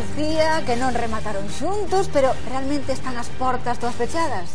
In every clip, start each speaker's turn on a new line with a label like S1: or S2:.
S1: Lucía, que non remataron xuntos, pero realmente están as portas todas pechadas?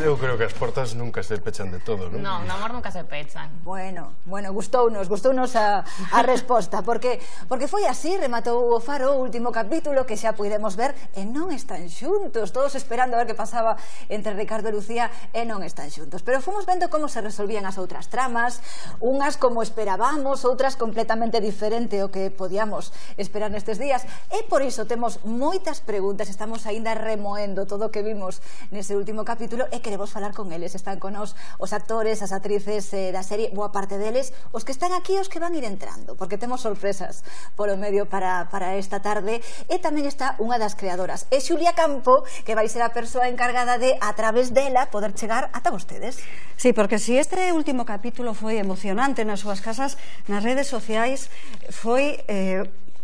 S2: Eu creo que as portas nunca se pechan de todo, non?
S3: Non, no amor nunca se pechan.
S1: Bueno, gustounos a resposta, porque foi así, rematou o Faro o último capítulo que xa puidemos ver e non están xuntos, todos esperando a ver que pasaba entre Ricardo e Lucía e non están xuntos, pero fomos vendo como se resolvían as outras tramas, unhas como esperábamos, outras completamente diferente ao que podíamos esperar nestes días, e por iso temos moitas preguntas, estamos aínda remoendo todo o que vimos nese último capítulo e queremos falar con eles. Están con nos os actores, as actrices da serie, boa parte deles, os que están aquí, os que van ir entrando, porque temos sorpresas polo medio para esta tarde, e tamén está unha das creadoras, é Xulia Campo, que vai ser a persoa encargada de, a través dela, poder chegar ata vostedes.
S4: Sí, porque si este último capítulo foi emocionante nas súas casas, nas redes sociais foi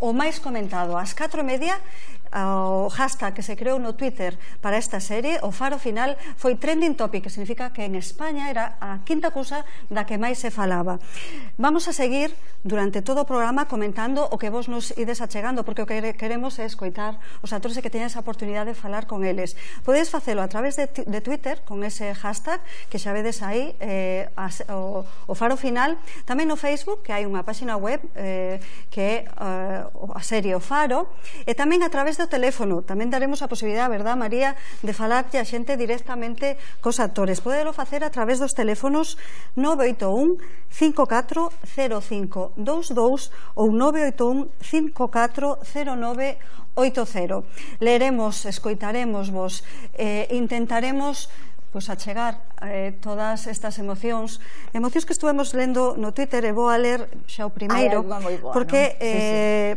S4: o máis comentado ás 4:30. O hashtag que se creou no Twitter para esta serie, o Faro Final, foi trending topic, que significa que en España era a quinta cousa da que máis se falaba. Vamos a seguir durante todo o programa comentando o que vos nos ides achegando, porque o que queremos é escoitar os actores e que teñan esa oportunidade de falar con eles. Podedes facelo a través de Twitter con ese hashtag que xa vedes aí, o Faro Final, tamén no Facebook, que hai unha página web que é a serie O Faro, e tamén a través do teléfono. Tamén daremos a posibilidade, verdad, María, de falarlle a xente directamente cos actores. Podelo facer a través dos teléfonos 981 54 05 22 ou 981 54 09 80. Leeremos, escoitaremos vos, intentaremos achegar todas estas emocións que estuvemos lendo no Twitter, e vou a ler xa o primeiro, porque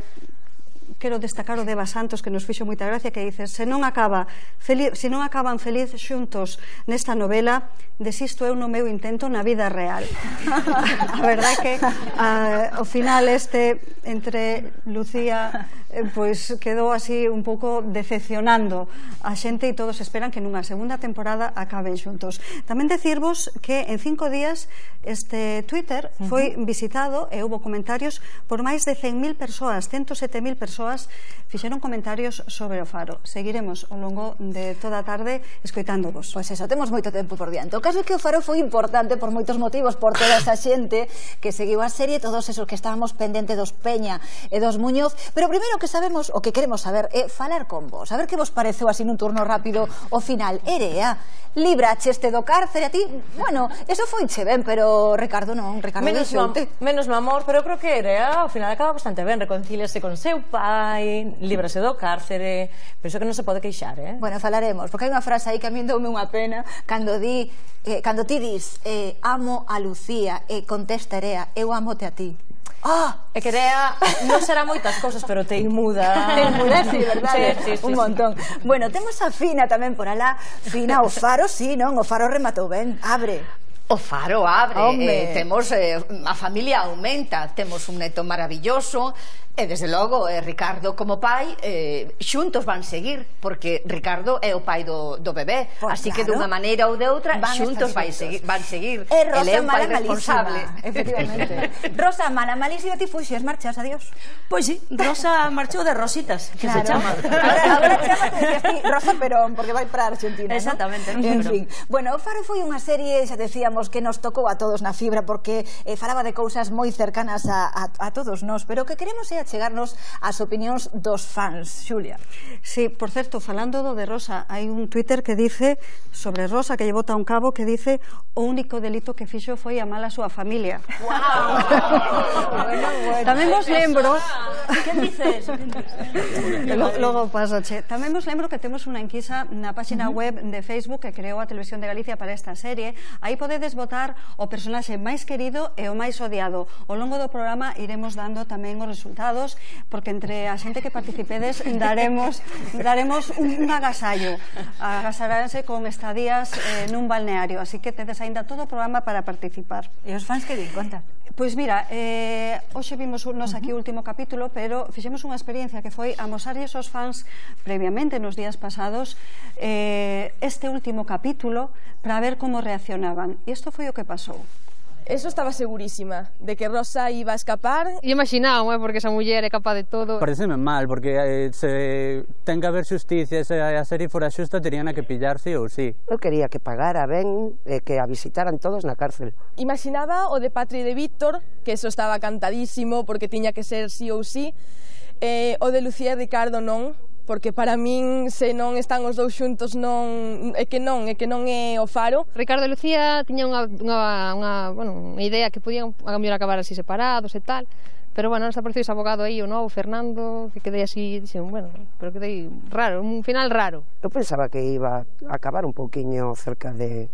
S4: quero destacar o de Eva Santos, que nos fixo moita gracia, que dice: se non acaban feliz xuntos nesta novela, desisto eu no meu intento na vida real. A verdade é que ao final entre Lucía pois quedou así un pouco decepcionando a xente, e todos esperan que nunha segunda temporada acaben xuntos. Tamén decirvos que en 5 días este Twitter foi visitado e houve comentarios por máis de 100.000 persoas, 107.000 persoas fixeron comentarios sobre o Faro. Seguiremos ao longo de toda a tarde escoitándovos.
S1: Pois eso, temos moito tempo por diante. O caso é que o Faro foi importante por moitos motivos, por toda esa xente que seguiu a serie, todos esos que estábamos pendentes dos Peña e dos Muñoz, pero primeiro que sabemos, o que queremos saber é falar con vos, a ver que vos pareceu así nun turno rápido o final. Erea, libracheste do cárcere a ti? Bueno, eso foiche ben, pero Ricardo non, Ricardo
S5: menos no amor, pero creo que Erea ao final acaba bastante ben, reconcíliase con seu pai, líbrase do cárcere, penso que non se pode queixar,
S1: Bueno, falaremos, porque hai unha frase aí que a min deume unha pena cando ti dis amo a Lucía e contesta Erea, eu amote a ti.
S5: É que Erea non será moitas cousas, pero te inmuda.
S1: Te inmuda, sí, verdade?
S5: Sí,
S1: un montón. Bueno, temos a Fina tamén por alá. Fina, o Faro, sí, non? O Faro rematou ben, abre.
S6: O Faro abre, temos a familia aumenta, temos un neto maravilloso. E desde logo, Ricardo como pai xuntos van seguir, porque Ricardo é o pai do bebé, así que dunha maneira ou de outra xuntos van seguir.
S1: E Rosa,
S6: é un pai responsable,
S1: efectivamente. Rosa, mala malísima, ti fuxes, marchas, adiós.
S7: Pois sí, Rosa marchou de Rositas, que se chama.
S1: Agora chama, te dicías ti, Rosa Perón, porque vai para Argentina,
S7: exactamente,
S1: en fin. Bueno, o Faro foi unha serie, xa decíamos, que nos tocou a todos na fibra, porque falaba de cousas moi cercanas a todos nós, pero o que queremos é chegarnos as opinións dos fans. Xulia.
S4: Sí, por certo, falando do de Rosa, hai un Twitter que dice sobre Rosa, que lle bota un cabo, que dice: o único delito que fixo foi amar a súa familia. Tamén vos lembro
S7: que dices?
S4: Logo pasache. Tamén vos lembro que temos unha enquisa na página web de Facebook que creou a Televisión de Galicia para esta serie. Aí podedes votar o personaxe máis querido e o máis odiado. Ao longo do programa iremos dando tamén os resultados, porque entre a xente que participedes daremos un agasallo. Agasaránse con estadías nun balneario, así que tedes aínda todo o programa para participar.
S1: E os fans que din, conta?
S4: Pois mira, hoxe vimos nos aquí o último capítulo, pero fixemos unha experiencia que foi amosarlles aos fans previamente nos días pasados este último capítulo para ver como reaccionaban. E isto foi o que pasou.
S3: Eso estaba segurísima, de que Rosa iba a escapar.
S8: E imaginaba, porque esa muller é capaz de todo.
S9: Pareceme mal, porque se ten que haber xusticia, se a serie fora xusta, terían que pillar sí ou sí.
S10: Eu quería que pagara ben e que a visitaran todos na cárcel.
S3: Imaginaba o de Patri e de Víctor, que eso estaba cantadísimo, porque tiña que ser sí ou sí. O de Lucía e Ricardo non, porque para min se non están os dous xuntos é que non é o faro.
S8: Ricardo e Lucía tiñan unha idea que podían a mellor acabar así separados e tal, pero bueno, nos apareceu ese abogado aí, o novo, Fernando, que quedei así, dixen, bueno, pero quedei raro, un final raro.
S10: Eu pensaba que iba a acabar un pouquiño cerca de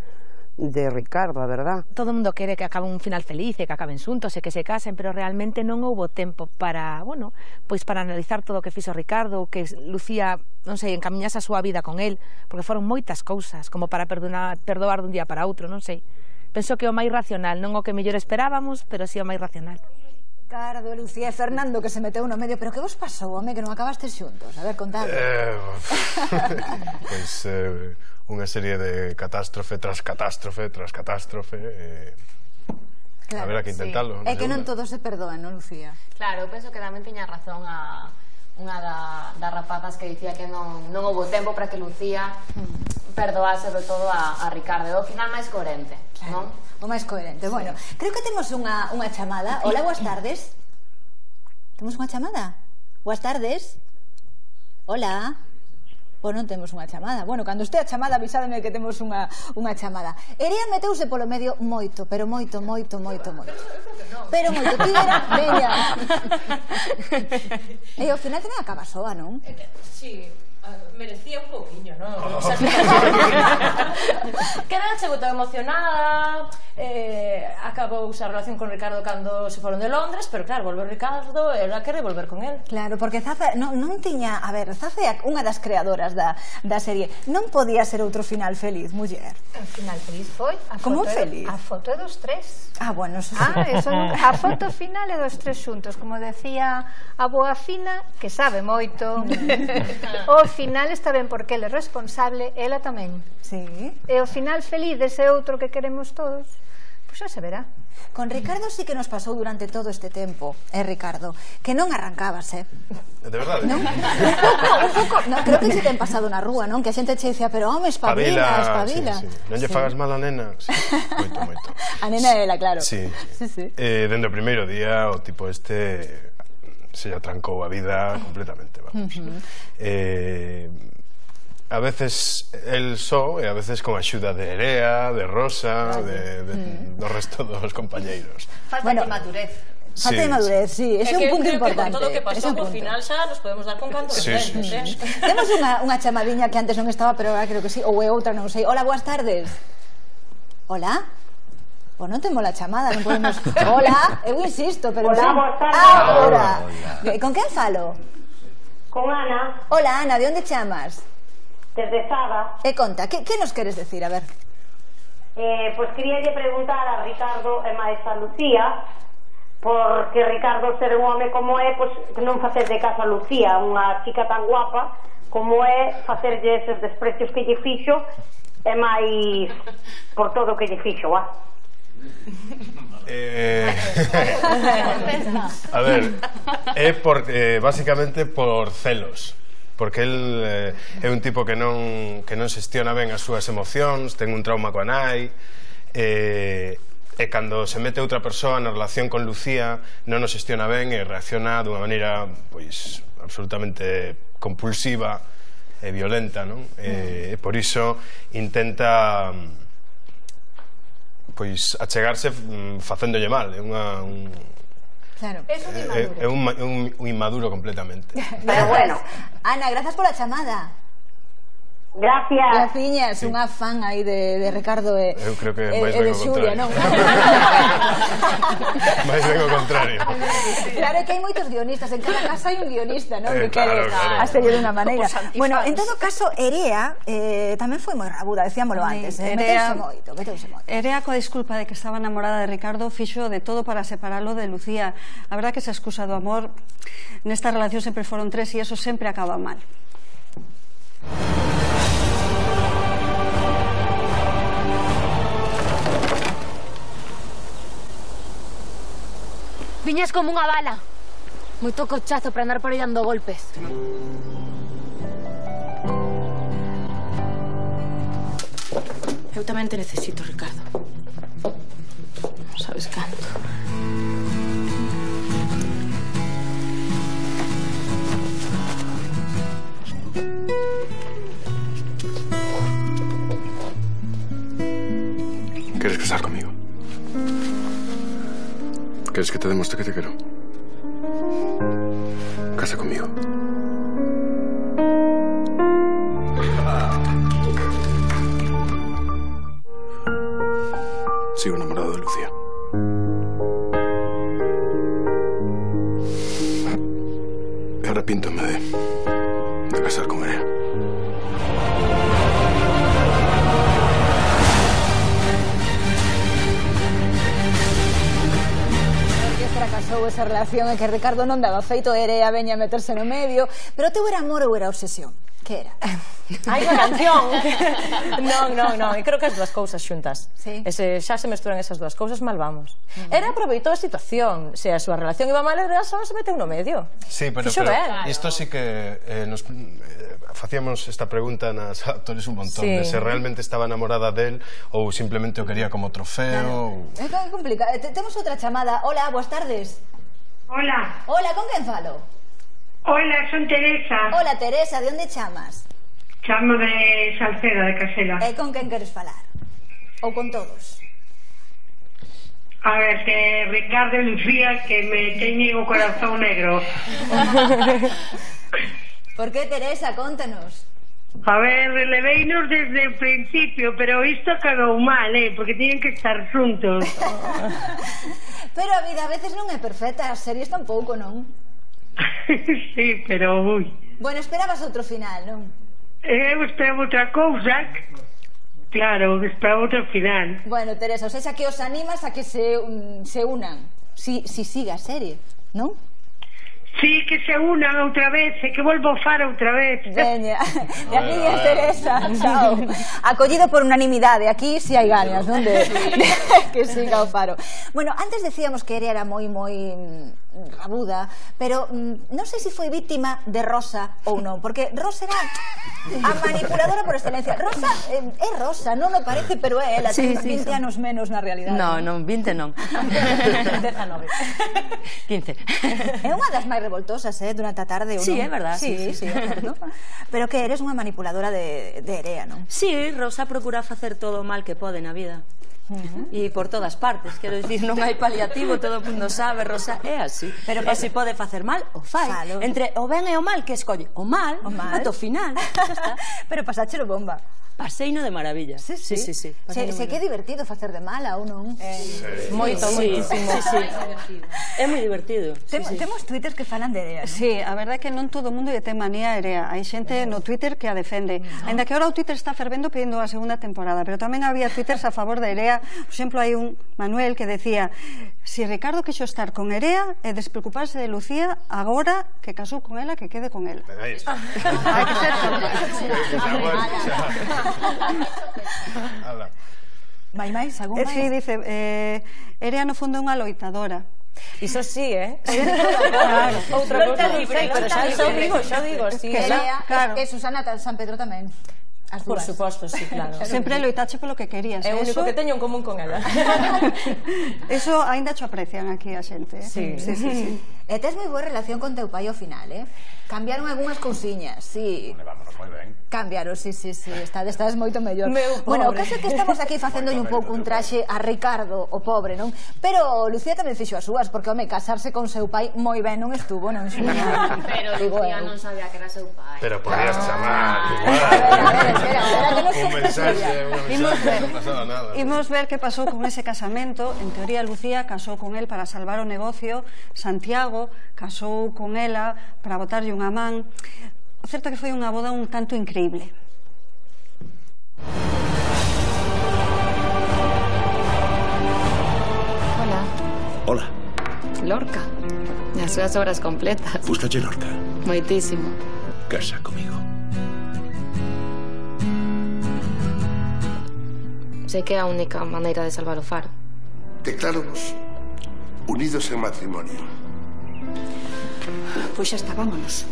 S10: Ricardo, a verdad.
S7: Todo o mundo quere que acabe un final feliz e que acaben xuntos e que se casen, pero realmente non houbo tempo para, bueno, pois para analizar todo o que fixo Ricardo, que Lucía, non sei, encamiñase a súa vida con él, porque foron moitas cousas, como para perdoar dun día para outro, non sei. Penso que o máis racional, non o que mellor esperábamos, pero si o máis racional.
S1: Ricardo, Lucía e Fernando que se meteu no medio, pero que vos pasou, home, que non acabastes xuntos? A ver, contadme.
S2: Pois unha serie de catástrofe tras catástrofe tras catástrofe. A ver, hai que intentalo.
S1: É que non todo se perdoa, non, Lucía?
S5: Claro, eu penso que tamén tiña razón unha das rapazas que dicía que non houbo tempo para que Lucía perdoase sobre todo a Ricardo. É o final máis coherente, non?
S1: O máis coherente. Bueno, creo que temos unha chamada. Hola, boas tardes. Temos unha chamada? Boas tardes. Hola. Pois non temos unha chamada. Bueno, cando estea a chamada avisádeme que temos unha chamada. Erea meteuse polo medio moito, pero moito. Pero moito, tira, veña. E ao final tamén acaba soa, non?
S5: Sí, merecía un pouquiño, non? Queda chegou tan emocionada, acabou a relación con Ricardo cando se foron de Londres, pero claro, volveu Ricardo e ela quere volver con él.
S1: Claro, porque Zaza non tiña, a ver, Zaza é unha das creadoras da serie, non podía ser outro final feliz, muller.
S6: O final feliz foi a foto dos tres.
S1: Ah, bueno, eso sí.
S6: A foto final é dos tres xuntos, como decía a boa Fina, que sabe moito. O final está ben porque ele é responsable, ela tamén.
S1: Sí.
S6: E o final feliz dese outro que queremos todos, pois xa se verá.
S1: Con Ricardo sí que nos pasou durante todo este tempo, Ricardo, que non arrancabase.
S2: De verdade?
S1: Non? Un pouco, non, creo que se ten pasado na rúa, non? Que a xente che dicía, pero home, espabila.
S2: Sí. Non lle fagas mal a nena. Sí, moito.
S1: A nena é ela, claro.
S2: Sí. Dende o primeiro día, o tipo este se lle atrancou a vida completamente, vamos. A veces el só e a veces con a axuda de Erea, de Rosa, do resto dos compañeiros.
S6: Falta de madurez.
S1: Falta de madurez, sí, ese é un punto importante.
S5: Con todo o que pasou, por final xa nos podemos dar con canto de frente.
S1: Temos unha chamadiña que antes non estaba, pero agora creo que sí, ou é outra, non sei. Hola, boas tardes. Hola? Pois non temos a chamada, non podemos... Hola, eu insisto, pero...
S11: Hola, boas tardes.
S1: Hola. Con quen falo?
S11: Con Ana.
S1: Hola, Ana, de onde chamas?
S11: Desde Sada.
S1: E conta, que nos queres decir, a ver?
S11: Pois queríalle preguntar a Ricardo e máis a Lucía, porque Ricardo ser un home como é, pois non facer de caso a Lucía, unha chica tan guapa como é, facerlle eses desprecios que lle fixo e máis por todo o que lle fixo,
S2: A ver, é basicamente por celos, porque el é un tipo que non xestiona ben as súas emocións, ten un trauma coa nai, e cando se mete outra persoa na relación con Lucía non o xestiona ben e reacciona dunha maneira pois absolutamente compulsiva e violenta, non? E por iso intenta pois achegarse facéndolle mal, é
S1: Claro.
S2: É un inmaduro completamente.
S1: Pero bueno, Ana, grazas pola chamada.
S11: Gracias.
S1: Graciñas, unha fan aí de Ricardo e
S2: eu creo que máis ben o
S1: Xulia, non?
S2: Máis ben o contrario.
S1: Claro que hai moitos guionistas, en cada casa hai un guionista, non? Que quere a serie dunha maneira. Bueno, en todo caso, Erea tamén foi moi rabuda, decíamolo antes, meteuse moito.
S4: Erea, coa disculpa de que estaba enamorada de Ricardo, fixo de todo para separalo de Lucía. A verdad que esa excusa do amor nesta relación sempre foron tres e eso sempre acaba mal.
S5: Viñas como unha bala. Moito cochazo para andar por aí dando golpes.
S12: Eu tamén te necesito, Ricardo. Non sabes canto.
S2: ¿Quieres casar conmigo? ¿Quieres que te demuestre que te quiero? Casa conmigo. Sigo enamorado de Lucía. Y arrepiéntome de casar con ella.
S1: Fracasou esa relación en que Ricardo non daba feito, Erea veña a meterse no medio, pero teu era amor ou era obsesión? Que era?
S13: Hai unha canción. Non, e creo que as dúas cousas xuntas.
S1: Sí.
S13: Xa se mesturan esas dúas cousas, mal vamos. Era aproveitou a situación, se a súa relación iba mal, era só se meteu no medio.
S2: Sí, pero isto sí que nos facíamos esta pregunta nas actores un montón, de se realmente estaba enamorada del ou simplemente o quería como trofeo.
S1: É complicado. Temos outra chamada. Hola, boas tardes.
S14: Hola.
S1: Hola, con quen falo?
S14: Hola, son Teresa.
S1: Hola, Teresa, de onde chamas?
S14: Chamo de Salceda, de Casela.
S1: E con quen queres falar? Ou con todos?
S14: A ver, que Ricardo e Lucía, que me teñen o corazón negro.
S1: Por que, Teresa? Contanos.
S14: A ver, releveinos desde o principio, pero isto acabou mal, porque tiñen que estar xuntos.
S1: Pero a vida a veces non é perfecta, as series tampouco, non?
S14: Sí, pero ui.
S1: Bueno, esperabas outro final, non?
S14: Eu esperaba outra cousa. Claro, esperaba outro final.
S1: Bueno, Teresa, o sea, que os animas a que se unan, si siga a serie, non?
S14: Sí, que se unan outra vez, e que volvo a far outra vez.
S1: Veña, e aquí é Teresa, chao. Acollido por unanimidade, aquí si hai ganas, non? De que siga o Faro. Bueno, antes decíamos que era moi aguda, pero non sei se foi víctima de Rosa ou non, porque Rosa era a manipuladora por excelencia. Rosa é Rosa, non o parece, pero é ela, ten 20 anos menos na realidade.
S12: Non, 20 non.
S13: 19. 15.
S1: É unha das máis revoltosas, durante a tarde, ou non?
S12: Sí, é verdad.
S1: Sí, é certo. Pero que eres unha manipuladora de Erea, non?
S12: Sí, Rosa procura facer todo o mal que pode na vida. E por todas partes, quero dicir, non hai paliativo, todo o mundo sabe, Rosa é así. Pero se pode facer mal, o fai. Entre o ben e o mal, que escolle o mal, ata o final, xa está.
S1: Pero pasáchelo bomba.
S12: Paseino de maravilla.
S1: Sí. Se que é divertido facer de mala ou non?
S13: Moito, moitísimo.
S12: É moi divertido.
S1: Temos twitters que falan de Erea, non?
S4: Sí, a verdade é que non todo o mundo lle ten manía a Erea. Hai xente no Twitter que a defende. Ainda que ahora o Twitter está fervendo pedindo a segunda temporada, pero tamén había twitters a favor de Erea. Por exemplo, hai un Manuel que decía: si Ricardo quixo estar con Erea e despreocuparse de Lucía, agora que casou con ela, que quede con ela.
S2: Aí está.
S4: Hai que ser
S1: máis, algún máis?
S4: Sí, dice, Erea no fondo é unha loitadora.
S13: Iso sí, outra cousa non sei, pero xa digo, sí.
S1: E Susana San Pedro tamén.
S13: Por suposto, sí, claro.
S4: Sempre loitache polo que querías.
S13: É o único que teño en común con ela.
S4: Eso aínda cho aprecian aquí a xente.
S13: Sí.
S1: E tes moi boa relación con teu pai ao final, Cambiaron algunhas cousiñas, sí.
S15: Vámonos moi ben.
S1: Cambiaron, sí. Estades moito mellor. Bueno, o caso é que estamos aquí facéndolle un pouco un traxe a Ricardo, o pobre, non? Pero Lucía tamén fixo as súas, porque, home, casarse con seu pai moi ben non estuvo, non?
S5: Pero Lucía non sabía que era seu pai.
S2: Pero podías chamar un mensaje, non pasaba nada.
S4: Imos ver que pasou con ese casamento. En teoría, Lucía casou con él para salvar o negocio. Santiago casou con ela para botarlle unha man. O certo que foi unha boda un tanto increíble.
S15: Hola.
S16: Lorca. As súas obras completas.
S15: Gustache Lorca?
S16: Moitísimo.
S15: Casa comigo.
S16: Sei que é a única maneira de salvar o Faro.
S15: Decláranos
S17: unidos en matrimonio.
S6: Pois xa está, vámonos.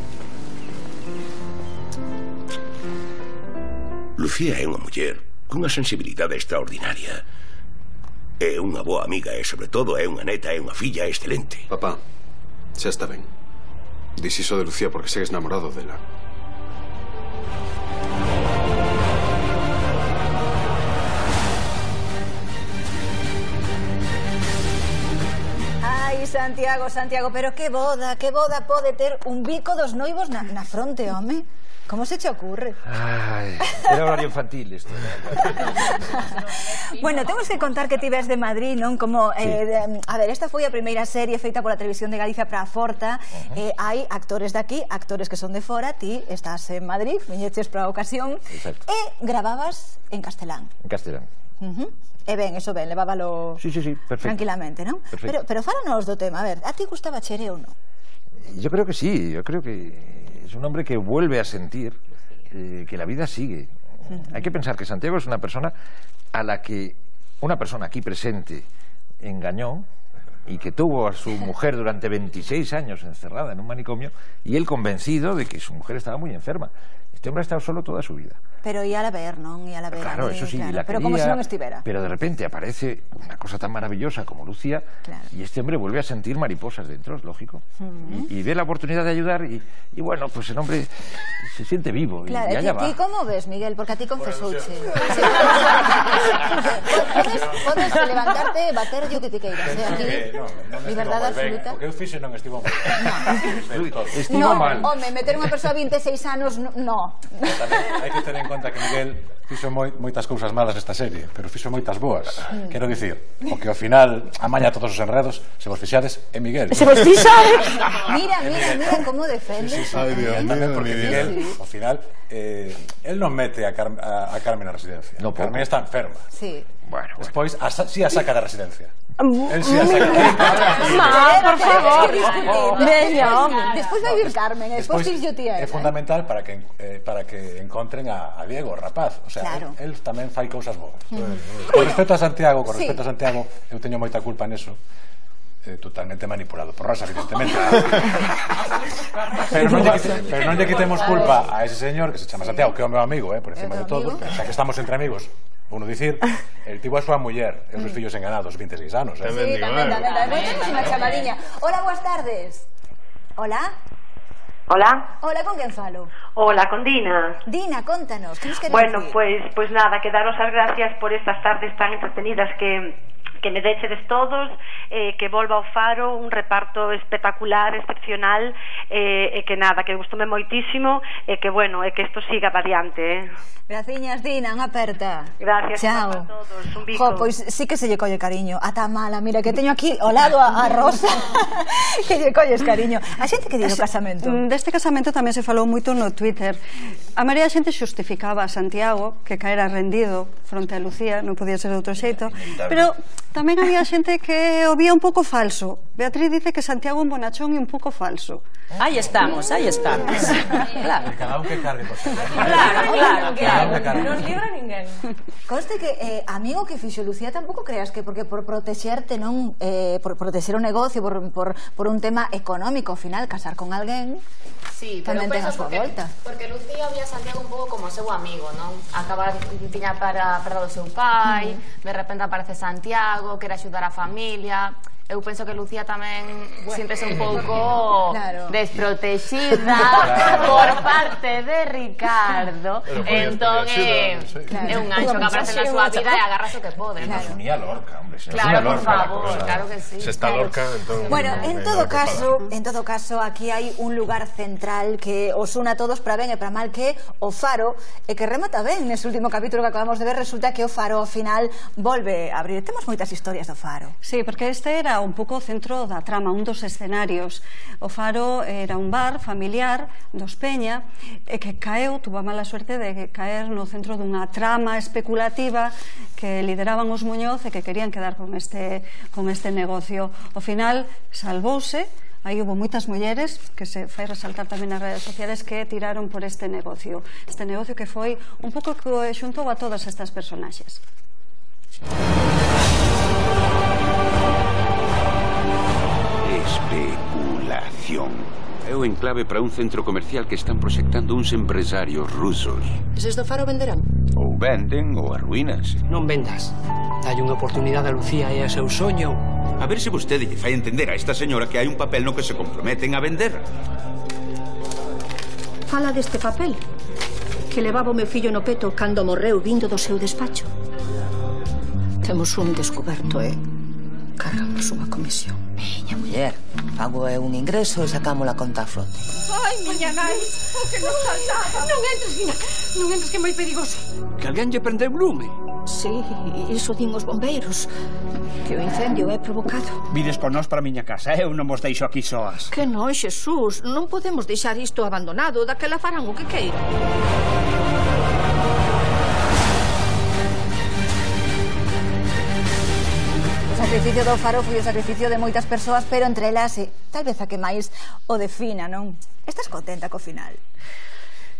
S15: Lucía é unha muller cunha sensibilidade extraordinaria. É unha boa amiga e, sobre todo, é unha neta e unha filla excelente.
S18: Papá, xa está ben. Dis iso de Lucía porque segues namorado dela.
S1: Ai, Santiago, pero que boda pode ter un bico dos noivos na fronte, home? Como se che ocurre?
S19: Ai, era horario infantil isto.
S1: Bueno, temos que contar que ti ves de Madrid, non? Como, a ver, esta foi a primeira serie feita pola Televisión de Galicia para a Forta. Hai actores de aquí, actores que son de fora. Ti estás en Madrid, viñeches para a ocasión.
S19: Exacto.
S1: E gravabas en castelán.
S19: En castelán.
S1: E ben, eso ben, levábalo
S19: sí, perfecto.
S1: Tranquilamente, non? Pero fálanos do tema, a ver, a ti gustaba Chere ou non?
S19: Yo creo que sí, yo creo que es un hombre que vuelve a sentir que la vida sigue. Hay que pensar que Santiago es una persona a la que una persona aquí presente engañó y que tuvo a su mujer durante 26 años encerrada en un manicomio, y él convencido de que su mujer estaba muy enferma. Este hombre ha estado solo toda su vida.
S1: Pero ia a ver, non? Ia a ver.
S19: Claro, eso sí,
S1: claro.
S19: la
S1: Pero
S19: quería,
S1: como se non estivera.
S19: Pero de repente aparece una cosa tan maravillosa como Lucía, y este hombre vuelve a sentir mariposas dentro, es lógico. Y ve la oportunidad de ayudar y bueno, pues el hombre se siente vivo.
S1: Claro,
S19: y allá va.
S1: ¿Y cómo ves, Miguel? Porque a ti confesouche. Podes levantarte e bater yo que te queiras, aquí. Liberdade absoluta.
S20: O que eu fixe non estivo mal.
S19: Estivo mal.
S1: Home, meter unha persoa a 26 anos, no.
S20: Hai que ter en conta que Miguel fixo moitas cousas malas nesta serie, pero fixo moitas boas. Quero dicir, o que ao final amaña todos os enredos, se vos fixades, é Miguel.
S1: Se vos fixades? Mira como defendes.
S20: Ai, Dios mío, porque Miguel, ao final, él non mete a Carmen na residencia. Carmen está enferma.
S1: Sí.
S20: Bueno, despois, si a saca da residencia.
S1: Él
S20: sí a saca.
S1: Por favor.
S20: Veña,
S1: home. Despois vai vir Carmen, despois yo tía.
S20: É fundamental para que encontren a Diego, o rapaz. O sea, él tamén fai cousas boas. Con respecto a Santiago, eu teño moita culpa neso. Totalmente manipulado por Rosa, evidentemente. Pero non lle quitemos culpa a ese señor que se chama Santiago, que é o meu amigo, por encima de todo, xa que estamos entre amigos. Uno dicir, el tivo a súa muller e os seus fillos enganados 26 anos.
S1: Sí, tamén. Temos unha chamadiña. Hola, boas tardes. Hola.
S21: Hola.
S1: Hola, con quen falo?
S21: Hola, con Dina.
S1: Dina, contanos, que nos queres
S21: Bueno,
S1: decir?
S21: pues nada, que daros as gracias por estas tardes tan entretenidas que me dechedes todos, que volva ao Faro un reparto espectacular, excepcional, e que nada, que gustoume moitísimo, e que bueno, e que isto siga adiante.
S1: Graciñas, Dina, unha aperta.
S21: Gracias
S1: a
S21: todos, un bico.
S1: Jo, pois sí que se lle colle cariño. Ata mala, mira que teño aquí ao lado a Rosa que lle colles cariño. A xente que di do casamento?
S4: Deste casamento tamén se falou moito no Twitter. A maioría da xente xustificaba a Santiago, que caera rendido fronte a Lucía, non podía ser de outro xeito, pero tamén había xente que o vía un pouco falso. Beatriz dice que Santiago é un bonachón e un pouco falso.
S12: Aí estamos. Claro.
S20: Cada un que cargue por ser.
S12: Claro. Non libra ninguén.
S1: Conste que, amigo, que fixo Lucía tampouco creas que porque por protexerte, non, por protexer o negocio, por un tema económico, ao final, casar con alguén,
S5: sí, pero
S1: tamén ten a súa volta.
S5: Porque Lucía vía a Santiago un pouco como o seu amigo, non? Acaba tiña para o seu pai, de repente aparece Santiago, quere axudar a familia. Eu penso que Lucía tamén siéntese un pouco desprotexida por parte de Ricardo. Entón é un ancho que aparece na súa vida e agarra o que pode.
S20: E nos unía Lorca, hombre.
S5: Claro, por favor, claro que sí.
S2: Se está Lorca, entón...
S1: Bueno, en todo caso, aquí hai un lugar central que os une a todos para ben e para mal, que o Faro, e que remata ben nese último capítulo que acabamos de ver. Resulta que o Faro ao final volve a abrir. Temos moitas historias do Faro.
S4: Sí, porque este era un pouco o centro da trama, un dos escenarios. O Faro era un bar familiar dos Peña, e que tuvo a mala suerte de caer no centro dunha trama especulativa que lideraban os Muñoz e que querían quedar con este negocio. Ao final salvouse. Aí hubo moitas mulleres, que se fai resaltar tamén nas redes sociales, que tiraron por este negocio que foi un pouco que xuntou a todas estas personaxes.
S15: Especulación. É o enclave para un centro comercial que están proxectando uns empresarios rusos.
S17: Eses do Faro venderán?
S15: Ou venden ou arruínanse.
S17: Non vendas. Dalle unha oportunidade a Lucía e a seu soño.
S22: A ver se vostede lle fai entender a esta señora que hai un papel no que se comprometen a vender.
S17: Fala deste papel que levaba o meu fillo no peto cando morreu vindo do seu despacho. Temos un descoberto e cargamos unha comisión.
S23: Miña muller, pago é un ingreso e sacamos a conta a flote.
S17: Ai, miña nai, o que nos faltaba. Non entres, Fina, non entres, que é moi perigoso.
S22: Que alguén lle prendeu lume.
S17: Sí, iso din os bombeiros, que o incendio é provocado.
S22: Vides con nós para a miña casa, eu non vos deixo aquí soas.
S17: Que non, Xesús, non podemos deixar isto abandonado, daquela farán o que queiran.
S1: O sacrificio do Faro foi o sacrificio de moitas persoas, pero entre elas, tal vez a que máis o defina, non? Estás contenta co final?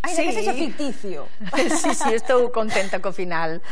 S1: Ainda que sexa ficticio.
S6: Sí, estou contenta co final.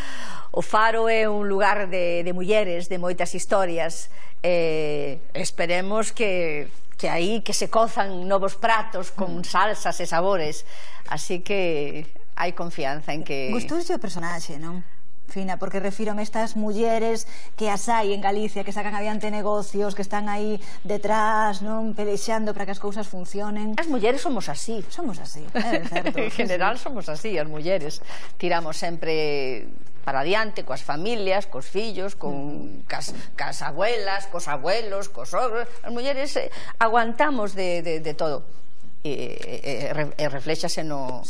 S6: O Faro é un lugar de mulleres, de moitas historias. Esperemos que aí que se cozan novos pratos con salsas e sabores. Así que hai confianza en que...
S1: Gustouxe o personaxe, non? Fina, porque refírome a estas mulleres que as hai en Galicia, que sacan adiante negocios, que están aí detrás, non, pelexando para que as cousas funcionen.
S6: As mulleres somos así.
S1: Somos así, é certo.
S6: En general somos así, as mulleres. Tiramos sempre para adiante coas familias, cos fillos, cas abuelas, cos abuelos, cos ogros. As mulleres aguantamos de todo. E reflexase no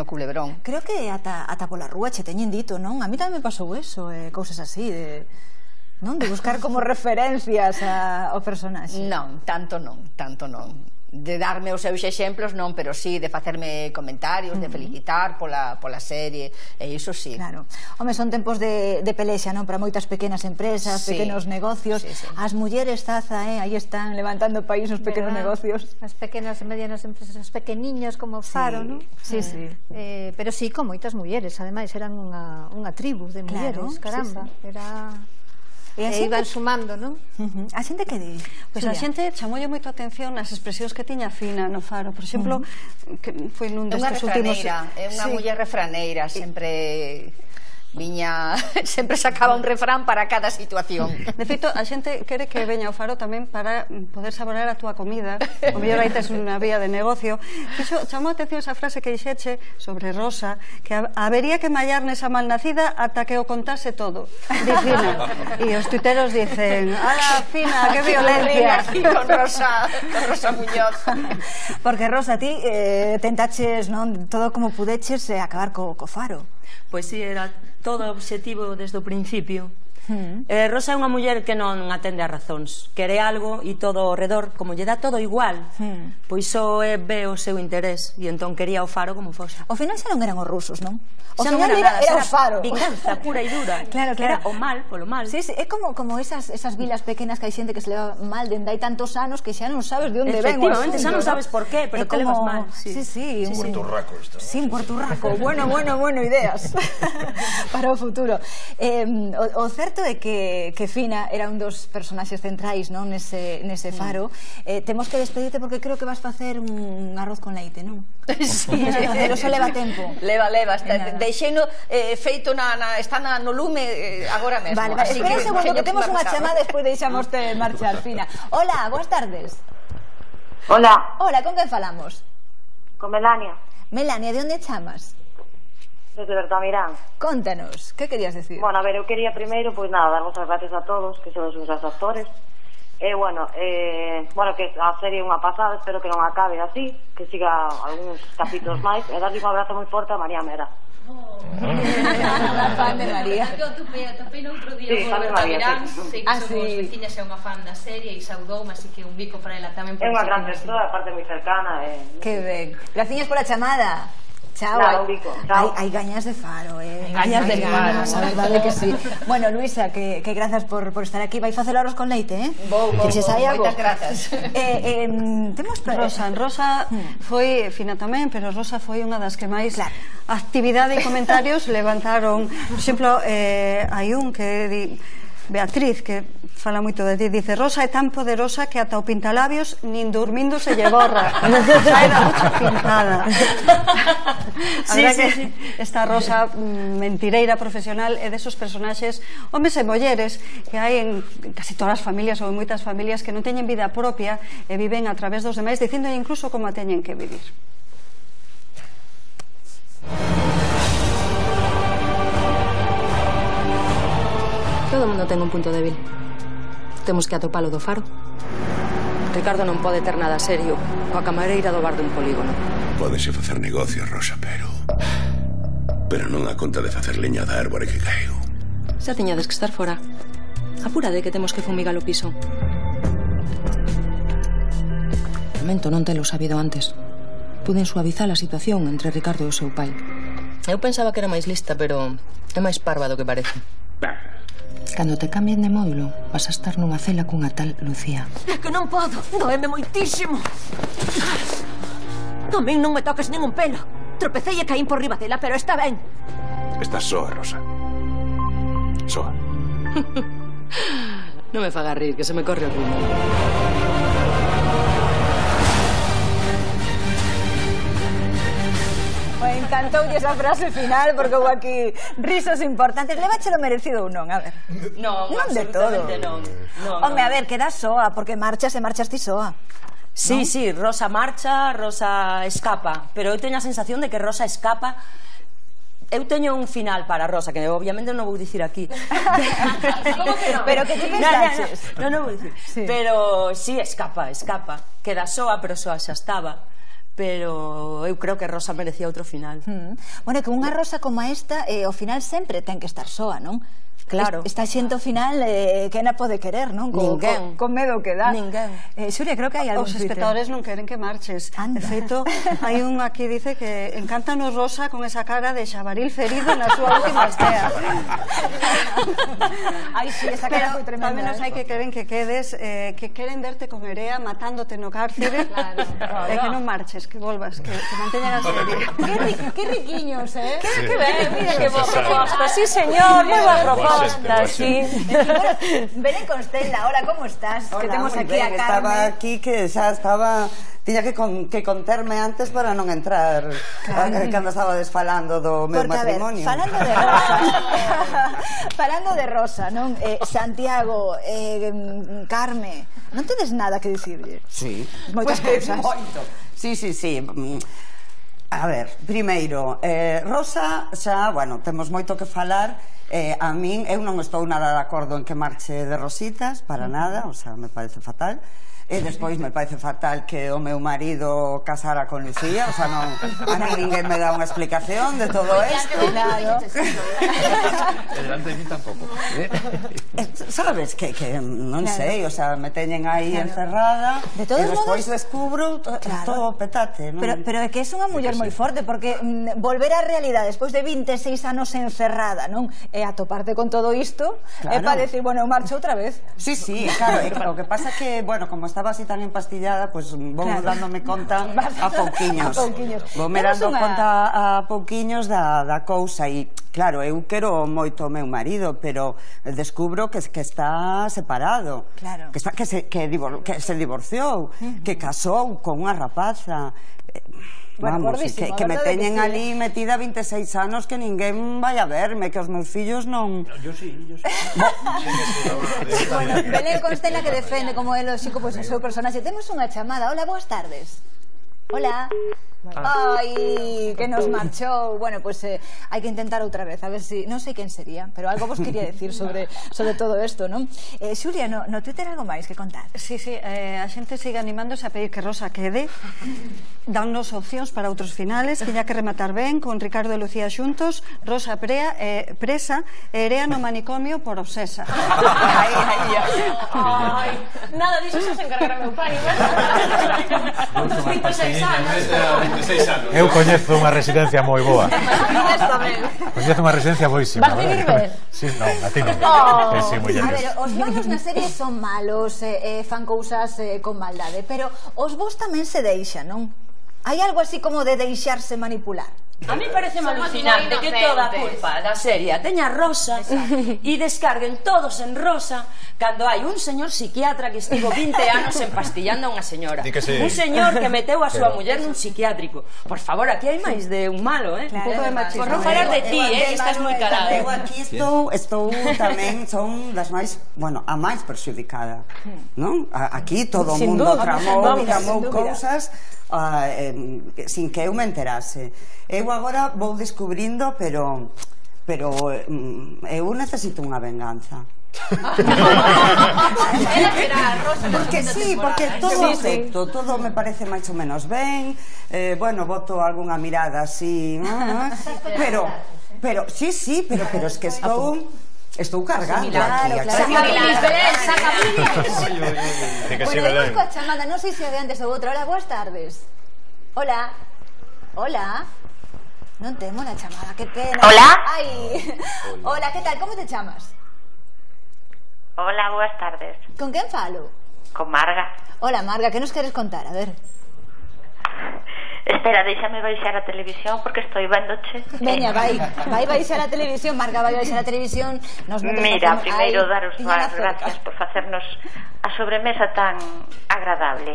S6: culebrón.
S1: Creo que ata pola rúa che teñen dito, non? A mí tamén me pasou eso, cousas así de buscar como referencias ao personaxe.
S6: Non, tanto non. De darme os seus exemplos non, pero sí de facerme comentarios, de felicitar pola serie, e iso sí.
S1: Claro. Home, son tempos de pelexa, non? Para moitas pequenas empresas, pequenos negocios. As mulleres, Zaza, aí están levantando país os pequenos negocios.
S24: As pequenas e medianas empresas, as pequeniños como Faro, non?
S1: Sí.
S24: Pero sí, con moitas mulleres, ademais eran unha tribu de mulleres, caramba. Era... E iban sumando, non?
S1: A xente que di?
S4: Pois a xente chamoulle moito a atención as expresións que tiña Fina no Faro. Por exemplo, que foi nun destes últimos...
S6: É unha muller refraneira, sempre... sempre sacaba un refrán para cada situación.
S4: De feito, a xente quere que veña ao Faro tamén para poder saborear a túa comida. O mellor aí tes unha vía de negocio. Iso chamou a atención esa frase que dixeche sobre Rosa, que habería que mallar nesa malnacida ata que o contase todo. Di Fina. E os tuiteros dicen, ala, Fina, que violencia.
S6: Aquí con Rosa Muñoz.
S1: Porque, Rosa, ti tentaches, non, todo como pudeches acabar co Faro.
S12: Pois si, era todo o obxectivo desde o principio. Rosa é unha muller que non atende a razóns, quere algo e todo ao redor, como lle dá todo igual, pois só ve o seu interés, e entón quería o Faro como fose.
S1: Ao final xa non eran os rusos, non? O
S12: xa non
S1: final era o Faro.
S12: Vinganza pura e dura.
S1: Claro.
S12: Era o mal polo mal.
S1: Sí, é como esas vilas pequenas que hai xente que se leva mal dende hai tantos anos que xa non sabes de onde ven o asunto.
S12: Efectivamente, xa non sabes por qué, pero te levas mal.
S1: Sí.
S2: Un Puerto Rico isto.
S1: Sí, un Puerto Rico. Bueno, ideas para o futuro. O certo é que Fina era un dos personaxes centrais, non, nese Faro. Temos que despedirte porque creo que vas facer un arroz con leite, non?
S6: Sí.
S1: Pero só leva tempo.
S6: Leva, deixeino feito está no lume agora mesmo.
S1: Vale, espera un segundo que temos unha chamada, despois deixamos de marchar, Fina. Hola, boas tardes.
S11: Hola,
S1: con quen falamos?
S11: con Melania,
S1: Melania, de onde chamas?
S11: desde Bertamirán.
S1: Contanos, que querías decir?
S11: Bueno, a ver, eu quería primeiro, pois nada, dar as gracias a todos, que son os meus actores. Bueno, que a serie é unha pasada, espero que non acabe así, que siga algúns capítulos máis, e darlle un abrazo moi forte a María Mera.
S1: A fan de María.
S25: Eu topei no outro día por Bertamirán, sei que somos veciñas e unha fan da serie e saudoume, así que un bico para ela tamén.
S11: É unha gran persoa, aparte moi cercana.
S1: Que ben. Graciñas pola chamada. Chao. Hai gañas de Faro,
S6: gañas de Faro,
S1: a verdade que sí. Bueno, Luisa, que grazas por estar aquí. Vai facer arroz con leite,
S6: Vou, moitas grazas.
S1: Temos
S4: Rosa foi Fina tamén, pero Rosa foi unha das que máis actividade e comentarios levantaron. Por exemplo, hai un que di Beatriz, que fala moito de ti, dice: Rosa é tan poderosa que ata o pintalabios nin dormindo se lle borra. Xa era mucha pintada. A verdad que esta Rosa mentireira profesional é desos personaxes, homes e mulleres, que hai en casi todas as familias ou en moitas familias que non teñen vida propia e viven a través dos demais, dicindo incluso como a teñen que vivir.
S16: Todo mundo ten un punto débil. Temos que atopalo do Faro. Ricardo non pode ter nada serio coa camareira do bar dun polígono.
S15: Pódese facer negocios, Rosa, pero non a conta de facer leña da árbore que caeu.
S16: Xa tiñades que estar fora. Apúrade que temos que fumigar o piso. Lamento non telo sabido antes. Puden suavizar a situación entre Ricardo e o seu pai. Eu pensaba que era máis lista, pero é máis parva do que parece. Cando te cambien de módulo, vas a estar nunha cela cunha tal Lucía.
S3: É que non podo, doeme moitísimo. A min non me toques nin un pelo. Tropecei e caín por riba dela, pero está ben.
S18: Estás soa, Rosa. Soa.
S16: Non me faga rir, que se me corre o ritmo.
S1: Encantoulle esa frase final porque houve aquí risos importantes. Leváchelo merecido ou non? A ver.
S12: Non,
S1: absolutamente non. Home, a ver, queda soa, porque marchas e marchas ti soa.
S12: Sí, sí, Rosa marcha, Rosa escapa, pero eu teño a sensación de que Rosa escapa. Eu teño un final para Rosa, que obviamente non vou dicir aquí.
S1: Como que non? Pero que te pensaches?
S12: Non vou dicir. Pero sí, escapa. Queda soa, pero soa xa estaba. Pero eu creo que Rosa merecía outro final.
S1: Bueno, que unha Rosa como esta, ao final sempre ten que estar soa, non?
S12: Claro.
S1: Está xente ao final que na pode querer, non?
S12: Ninguén.
S1: Con medo que dá.
S12: Ninguén.
S1: Xulia, creo que hai algún
S4: Os espectadores non queren que marches. De feito, hai un aquí dice que encántanos Rosa con esa cara de xabaril ferido na súa última estea.
S1: Ai, sí, esa cara foi tremenda.
S4: Pero menos hai que queren que quedes, que queren verte con Erea matándote no cárcere. E que non marches, que volvas, que manteñan a serie.
S1: Que riquiños, eh?
S12: Que ben, mira que boa proposta. Sí, señor, moi boa proposta. Sí.
S1: Belén Constela, hola, ¿cómo estás?
S7: Hola,
S1: que temos aquí
S7: ben,
S1: a Carmen.
S7: estaba aquí que xa estaba... Tiña que conterme antes para non entrar cando estaba desfalando do meu matrimonio.
S1: A ver, falando de Rosa, non? Santiago, Carme, non tedes nada que dicirlle?
S7: Sí.
S1: Moitas cousas.
S7: Moito. Sí. A ver, primeiro, Rosa xa, bueno, temos moito que falar. A min, eu non estou nada de acordo en que marche de Rositas, para nada, o sea, me parece fatal. E despois me parece fatal que o meu marido casara con Lucía, o sea, non, a mí ninguén me dá unha explicación de todo isto.
S1: Claro.
S19: E delante de mí tampouco.
S7: Sabes que non sei, o sea, me teñen aí encerrada e despois descubro todo petate, non?
S1: Pero é que é unha muller moi forte, porque volver á realidade despois de 26 anos encerrada, non? E atoparte con todo isto, é para decir, bueno, eu marcho outra vez.
S7: Sí, claro, o que pasa que, bueno, como estaba así tan empastillada, pues vou dándome conta a pouquiños. Vou me dando conta a pouquiños da cousa e, claro, eu quero moito o meu marido, pero descubro que está separado, que se divorciou, que casou con unha rapaza. Vamos, que me teñen ali metida 26 anos que ninguén vai a verme, que os meus fillos non...
S19: Yo sí.
S1: Bueno, Belén Constela que defende como é lógico pois o seu personaxe. Temos unha chamada. Hola, boas tardes. Hola. Ai, que nos marchou. Bueno, pues hai que intentar outra vez. A ver si, non sei quen sería, pero algo vos quería decir sobre todo isto, non? Xulia, no Twitter algo máis que contar?
S4: Sí, a xente sigue animándose a pedir que Rosa quede. Dannos opcións para outros finales. Tiña que rematar ben con Ricardo e Lucía xuntos, Rosa presa e Erea no manicomio por obsesa.
S25: Ai, nada disso xa se encargará meu pai. 26 anos.
S20: Eu coñezo unha residencia moi boa. Coñezo unha residencia boísima.
S1: Vas vivir ben?
S20: Sí, non, a ti non.
S1: A ver, os malos na serie son malos, fan cousas con maldade, pero os vos tamén se deixan, non? Hai algo así como de deixarse manipular?
S12: A mí parece alucinante que toda a culpa da serie teña Rosa e descarguen todos en Rosa cando hai un señor psiquiatra que estivo 20 anos empastillando a unha señora. Un señor que meteu a súa muller nun psiquiátrico. Por favor, aquí hai máis de un malo, Un pouco de machismo. Por non falar de ti, que estás moi calado.
S7: Eu aquí estou tamén, son das máis, bueno, a máis perxudicada, non? Aquí todo o mundo tramou cousas sin que eu me enterase. Eu agora vou descubrindo, pero eu necesito unha venganza. Porque sí, porque todo acepto, todo me parece máis ou menos ben, bueno, boto algunha mirada así, pero sí, pero es que estou cargando aquí.
S1: Bueno, vamos coa chamada, non sei se de antes ou outra. Hola, boas tardes. Hola. Non temos a chamada, que pena.
S8: Hola.
S1: Hola, que tal, como te chamas?
S8: Hola, boas tardes.
S1: Con quen falo?
S8: Con Marga.
S1: Hola, Marga, que nos queres contar? A ver.
S8: Espera, déxame baixar a televisión porque estoy vendoche.
S1: Veña, vai baixar a televisión, Marga, vai baixar a televisión.
S8: Mira, primeiro daros as gracias por facernos a sobremesa tan agradable.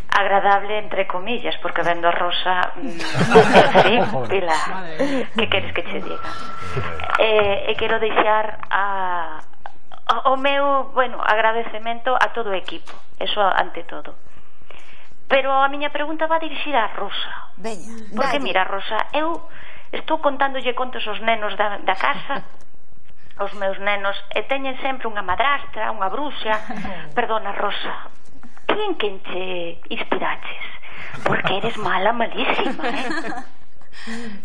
S8: Agradable entre comillas, porque vendo a Rosa sí, Pilar, que queres que che diga? E quero deixar o meu, bueno, agradecemento a todo o equipo, eso ante todo. Pero a miña pregunta va dirixida a Rosa.
S1: Veña,
S8: porque mira, Rosa, eu estou contándolle contos aos nenos da casa, os meus nenos, e teñen sempre unha madrastra, unha bruxa. Perdona, Rosa, en quen te inspiraches? Porque eres mala, malísima,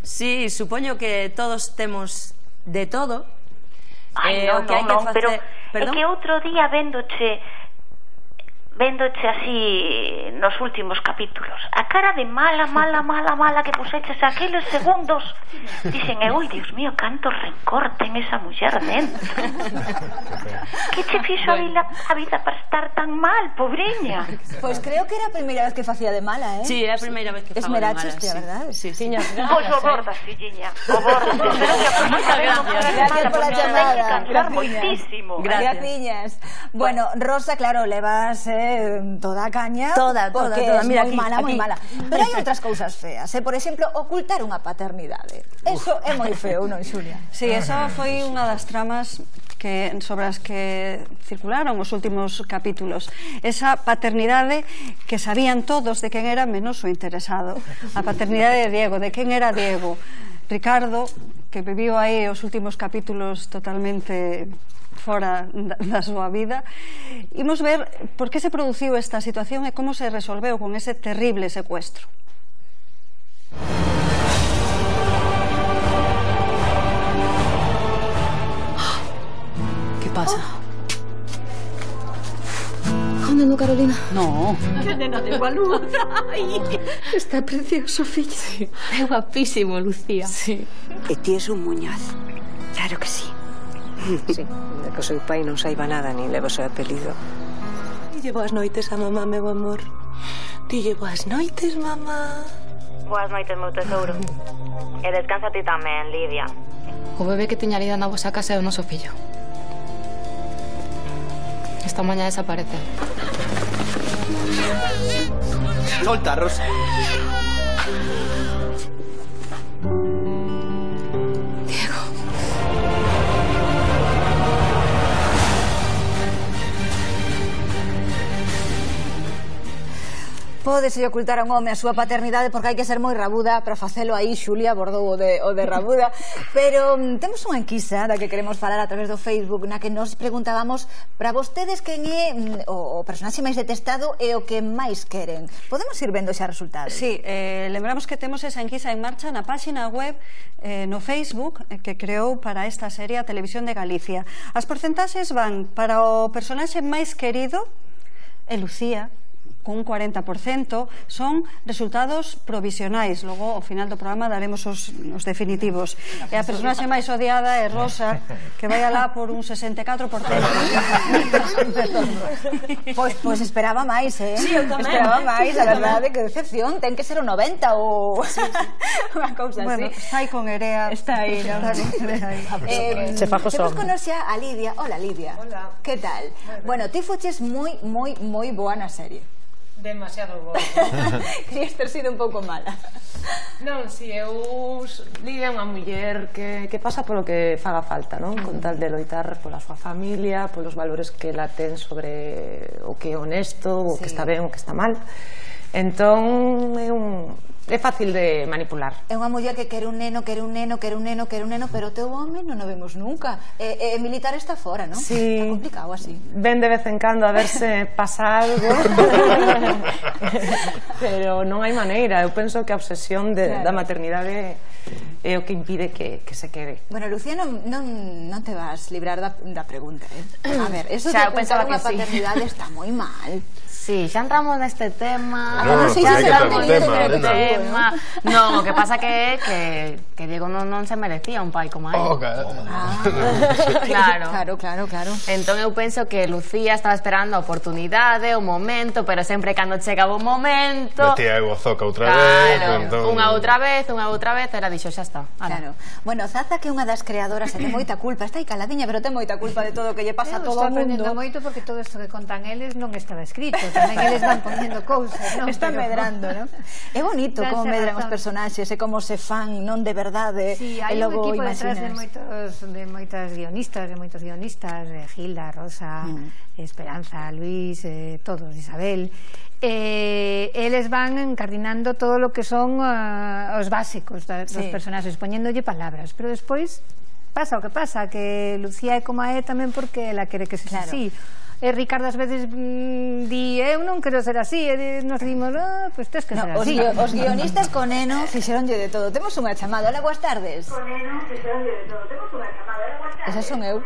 S12: Sí, supoño que todos temos de todo.
S8: Non, pero é que outro día véndoche así nos últimos capítulos, a cara de mala que puseches aqueles segundos, dicen, ui, Dios mío, canto rencor ten esa muller dentro. Que che fixo a vida para estar tan mal, pobreña?
S1: Pois creo que era a primeira vez que facía de mala,
S12: Sí, era a primeira vez que facía de mala.
S1: Esmeraches, a verdade?
S12: Sí.
S8: Pois o bordas, filliña, o bordas. Espero que a próxima vez non quedas mala, porque ten que cansar moitísimo.
S1: Gracias. Bueno, Rosa, claro, levas toda a caña, porque é moi mala. Pero hai outras cousas feas, por exemplo, ocultar unha paternidade. Eso é moi feo, non, Xulia?
S4: Sí, esa foi unha das tramas sobre as que circularon os últimos capítulos. Esa paternidade que sabían todos de quen era menos o interesado. A paternidade de Diego, de quen era Diego. Ricardo, que viviu aí os últimos capítulos totalmente fora da súa vida. Imos ver por que se produciu esta situación e como se resolveu con ese terrible secuestro.
S16: ¿Qué pasa? ¿Dónde no, Carolina?
S17: No.
S25: Que nena de luz.
S17: Está precioso, filla.
S16: Sí. É guapísimo, Lucía.
S17: Sí.
S9: E ti es un muñaz. Claro que sí.
S16: Sí, de que o seu pai non saiba nada nin leva o seu apelido. Dille boas noites a mamá, meu amor. Dille boas noites, mamá.
S8: Boas noites, meu tesouro. E descansa ti tamén, Lidia.
S5: O bebé que tiña Lida na vosa casa é o noso fillo. Esta mañá desaparece.
S10: Solta, Rosa.
S1: Pódese ocultar a un home a súa paternidade porque hai que ser moi rabuda para facelo aí. Xulia abordou o de rabuda. Pero temos unha enquisa da que queremos falar a través do Facebook, na que nos preguntábamos para vostedes quen é o personaxe máis detestado e o que máis queren. Podemos ir vendo xa resultados?
S4: Sí, lembramos que temos esa enquisa en marcha na páxina web no Facebook que creou para esta serie a Televisión de Galicia. As porcentaxes van para o personaxe máis querido é Lucía, con un 40%, son resultados provisionais. Logo, ao final do programa, daremos os definitivos. E a personaxe máis odiada é Rosa, que vai alá por un 64%.
S1: Pois esperaba máis, eh?
S12: Sí, eu tamén.
S1: Esperaba máis, a verdade, que decepción. Ten que ser o 90 ou unha cousa así.
S4: Bueno, está aí con Erea.
S1: Está aí, non?
S12: Se fajo son.
S1: Temos conocer a Lidia. Hola, Lidia.
S13: Hola.
S1: Que tal? Bueno, ti fuches moi boa na serie.
S13: Demasiado boa.
S1: Querías ter sido un pouco mala.
S13: Non, si, Lidia é unha muller que pasa polo que faga falta, non? Con tal de loitar pola súa familia, polos valores que ela ten sobre o que é honesto, o que está ben, o que está mal. Entón, é fácil de manipular.
S1: É unha muller que quere un neno, pero o teu home non o vemos nunca. E militar está fora, non?
S13: Sí.
S1: Está complicado así.
S13: Ven de vez en cando a ver se pasa algo. Pero non hai maneira. Eu penso que a obsesión da maternidade é o que impide que se quede.
S1: Bueno, Lucía, non te vas librar da pregunta, eh? A ver, eso de apuntar unha paternidade está moi mal.
S5: Sí, xa entramos neste tema.
S2: Non,
S5: o que pasa que Diego non se merecía un pai como a él. Claro. Entón eu penso que Lucía estaba esperando a oportunidade, o momento, pero sempre cando chegaba o momento
S2: metía o zoca outra vez.
S5: Unha outra vez, era dixo, xa está.
S1: Claro. Bueno, Zaza, que é unha das creadoras, ten moita culpa, está aí caladiña, pero ten moita culpa de todo o que lle pasa a todo o mundo.
S24: Estou aprendendo moito porque todo isto que contan eles non estaba escrito. Tamén eles van poniendo cousas, non?
S1: Están medrando, non? É bonito como medran os personaxes e como se fan, non de verdade.
S24: Sí, hai un equipo detrás de moitos guionistas, Gilda, Rosa, Esperanza, Luis, todos, Isabel. Eles van encardinando todo o que son os básicos dos personaxes, poñéndolle palabras, pero despois pasa o que pasa, que Lucía é como é tamén porque ela quere que se así. E Ricardo ás veces di, eu non quero ser así, e nos dimos, pois tes que ser así.
S1: Os guionistas con Eno fixeronlle de todo. Temos unha chamada, hola, boas tardes.
S11: Con Eno fixeronlle de todo. Temos unha chamada, hola, boas tardes.
S1: Esa son eu,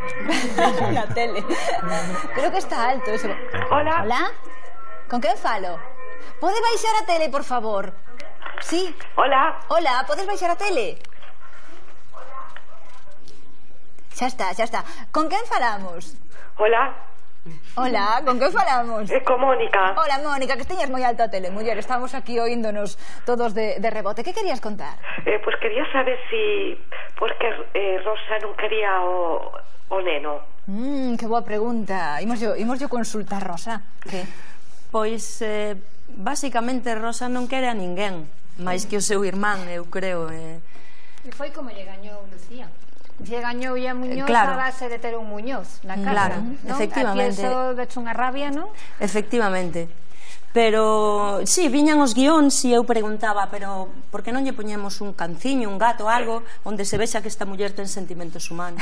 S1: na tele. Creo que está alto eso.
S11: Hola.
S1: Hola, con quen falo? Pode baixar a tele, por favor? Sí.
S11: Hola.
S1: Hola, podes baixar a tele? Xa está. Con quen falamos?
S11: Hola.
S1: Hola, con que falamos?
S11: Con Mónica.
S1: Hola, Mónica, que teñas moi alto a tele, muller. Estamos aquí oíndonos todos de rebote. Que querías contar?
S11: Pois quería saber si porque Rosa non quería o neno.
S1: Que boa pregunta. Imoslle consultar, Rosa. Que?
S12: Pois, basicamente, Rosa non quere a ninguén, máis que o seu irmán, eu creo.
S24: E foi como lle gañou Lucía. Lle gañou a Muñoz a base de ter un Muñoz na casa.
S12: Claro, efectivamente.
S24: Aquí eso vecho unha rabia, non?
S12: Efectivamente. Pero, sí, viñan os guións e eu preguntaba, pero por que non lle poñemos un canciño, un gato, algo, onde se vexa que esta muller ten sentimentos humanos?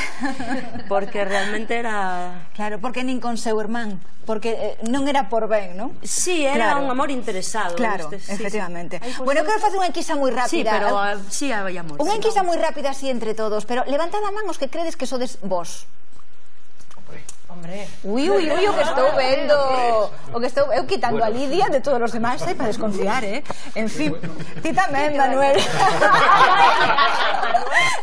S12: Porque realmente era...
S1: Claro, porque nin con seu irmán, porque non era por ben, non?
S12: Sí, era un amor interesado.
S1: Claro, efectivamente. Bueno, eu quero facer unha enquisa moi rápida.
S12: Sí, pero sí hai amor.
S1: Unha enquisa moi rápida así entre todos, pero levantad a man os que credes que sodes vos.
S24: Hombre.
S1: Ui, o que estou vendo. O que estou eu quitando a Lidia de todos os demais, para desconfiar, En fin, ti tamén, Manuel.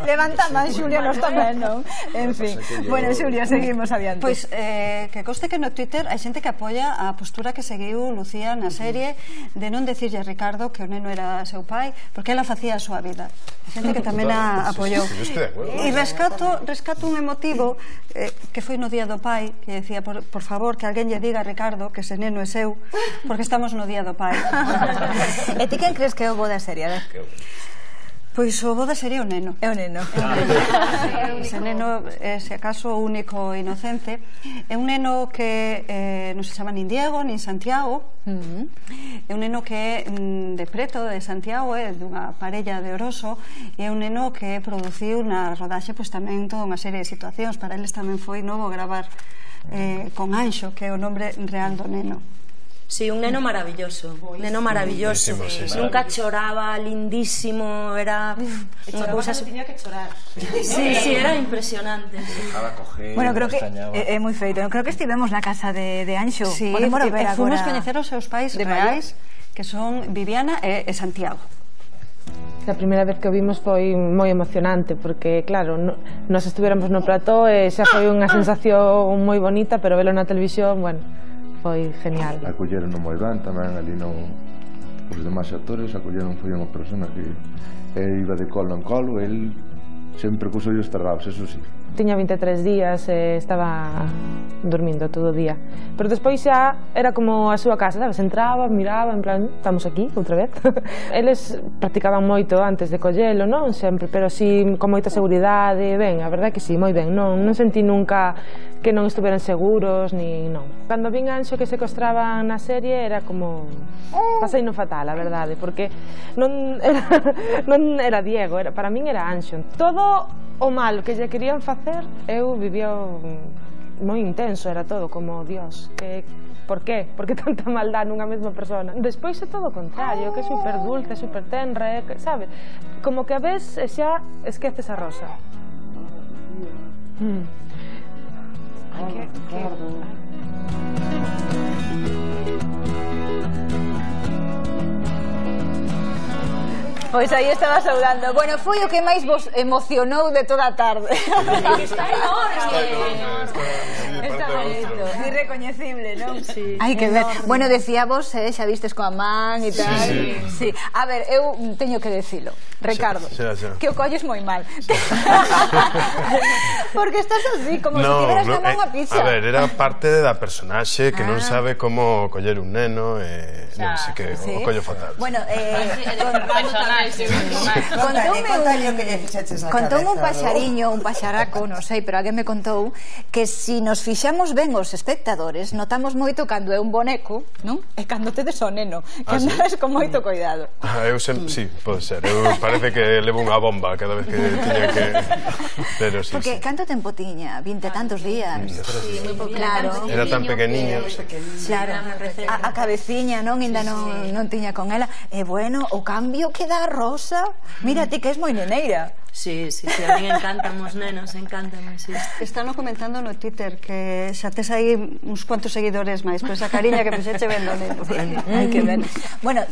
S1: Levanta man, Xulia, nos tamén, non? En fin. Bueno, Xulia, seguimos adiante.
S4: Pois, que conste que no Twitter hai xente que apoia a postura que seguiu Lucía na serie de non decirlle a Ricardo que o neno era seu pai, porque ela facía a súa vida. Hai xente que tamén a apoiou. E rescato un emotivo que foi no Día do Pai, que decía, por favor, que alguén lle diga a Ricardo que ese neno é seu, porque estamos no Día do Pai.
S1: E ti quen crees que é o bo da serie? A ver.
S4: Pois o boda sería o neno.
S1: É o neno.
S4: Ese neno é, se acaso, o único inocente. É un neno que non se chama nin Diego, nin Santiago. É un neno que é de preto, de Santiago, é dunha parella de Oroso, e é un neno que produciu na rodaxe pois tamén toda unha serie de situacións. Para eles tamén foi novo gravar con Anxo, que é o nombre real do neno.
S12: Sí, un neno maravilloso, nunca choraba, lindísimo, era unha cousa...
S13: Tiña que chorar.
S12: Sí, era impresionante.
S1: Bueno, creo que é moi feito. Creo que estivemos na casa de Anxo.
S4: Sí, fomos coñecer os seus pais reais, que son Viviana e Santiago.
S13: A primeira vez que o vimos foi moi emocionante porque, claro, nos estuviéramos no plató e xa foi unha sensación moi bonita, pero velo na televisión, bueno, foi genial.
S6: Acolleron moi ben tamén ali os demais actores, acolleron, foi unha persona que iba de colo en colo, el sempre cos ollos cerrados, eso sí.
S13: Tiña 23 días e estaba dormindo todo o día, pero despois xa era como a súa casa, sabes? Entraba, miraba, en plan, estamos aquí outra vez. Eles practicaban moito antes de collelo, non sempre, pero si con moita seguridade, ben, a verdade que si, moi ben, non sentí nunca que non estuveran seguros, ni non. Cando vin Anxo que secuestraban na serie era como... pasei no fatal, a verdade, porque non era Diego, para min era Anxo. Todo o mal que lle querían facer, eu vivía moi intenso, era todo como, Dios, por qué? Por que tanta maldad nunha mesma persona? Despois é todo o contrario, que é super dulce, super tenra, sabe? Como que a vez xa esqueces a Rosa.
S1: Pois aí estaba saudando. Bueno, foi o que máis vos emocionou de toda a tarde.
S12: Está enorme.
S1: Está bonito, irrecoñecible, non?
S12: Sí.
S1: Hai que ver. Bueno, decíamos, xa vistes coa man e tal. Sí. A ver, eu teño que decilo. Ricardo, que o colles moi mal. Porque estás así, como se tiveras que dar unha pizza.
S2: A ver, era parte da personaxe que non sabe como coller un neno e non sei que o collo fatal.
S1: Bueno, contoume un paxariño, un paxaraco, non sei, pero alguén me contou que si nos fixamos ben os espectadores, notamos moito cando é un boneco, non? E cando tedes o neno, que andas con moito cuidado.
S2: Eu sempre, sí, pode ser. Eu parece que levo unha bomba cada vez que tiña que... Pero sí,
S1: porque canto tempo tiña? 20 tantos días.
S2: Sí,
S1: moi pouco. Claro.
S2: Era tan pequeniño.
S1: Claro, a cabeciña, non? Ainda non tiña con ela. E bueno, o cambio que dá Rosa, mira ti que és moi neneira.
S12: Sí, a mí encantan os nenos, encantan, sí.
S4: Están comentando no Twitter que xa tes aí uns cuantos seguidores máis, por esa cariña que puxeche vendo neno.
S1: Hai que ver. Bueno,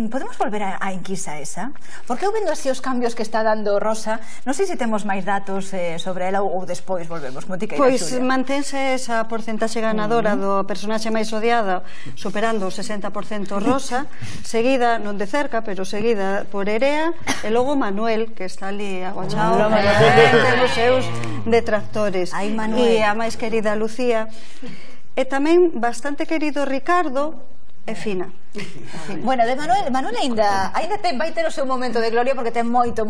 S1: podemos volver a enquisa esa? Porque eu vendo así os cambios que está dando Rosa, non sei se temos máis datos sobre ela ou despois volvemos, como ti queiras,
S4: Pois mantense esa porcentaxe ganadora do personaxe máis odiado, superando o 60% Rosa, seguida, non de cerca, pero seguida por Erea, e logo Manuel, que está ali aguachado entre os seus detractores, e a máis querida Lucía, e tamén bastante querido Ricardo e Fina.
S1: Bueno, de Manuel ainda vai ter o seu momento de gloria porque ten moito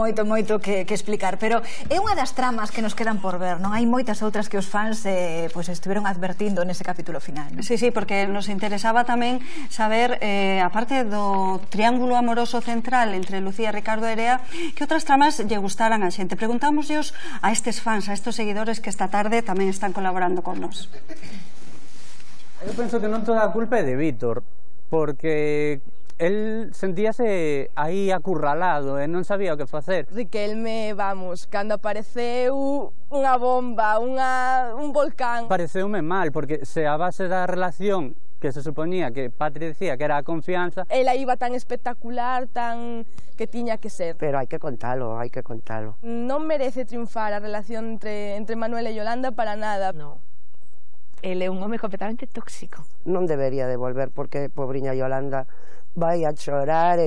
S1: que explicar, pero é unha das tramas que nos quedan por ver, non? Hai moitas outras que os fans estiveron advertindo nese capítulo final.
S4: Sí, porque nos interesaba tamén saber, aparte do triángulo amoroso central entre Lucía, Ricardo e Erea, que outras tramas lle gustaran a xente. Preguntámosllos a estes fans, a estes seguidores que esta tarde tamén están colaborando con nos.
S14: Eu penso que non toda a culpa é de Víctor, porque el sentíase aí acurralado e non sabía o que facer.
S21: Riquelme, vamos, cando apareceu unha bomba, un volcán.
S14: Pareceume mal, porque se a base da relación que se suponía que Patri decía que era a confianza,
S21: ela iba tan espectacular, tan que tiña que ser.
S7: Pero hai que contalo.
S21: Non merece triunfar a relación entre Manuel e Yolanda para nada.
S22: No. Ele é un home completamente tóxico.
S7: Non debería de volver porque pobriña Yolanda vai a chorar.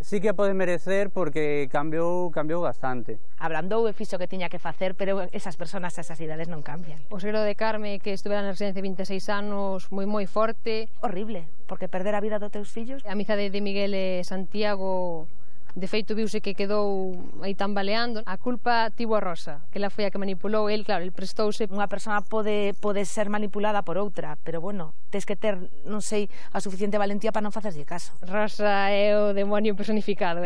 S14: Sí que pode merecer porque cambiou bastante.
S22: Abrandou e fixo o que tiña que facer, pero esas personas a esas idades non cambian.
S23: O segredo de Carme, que estuvera na residencia 26 anos, moi forte.
S22: Horrible, porque perder a vida dos teus fillos.
S23: A amizade de Miguel e Santiago, de feito, viuse que quedou aí tambaleando. A culpa tivo a Rosa, que ela foi a que manipulou. El, claro, el prestouse.
S22: Unha persona pode ser manipulada por outra, pero bueno, tens que ter, non sei, a suficiente valentía para non facerlle caso.
S23: Rosa é o demonio personificado,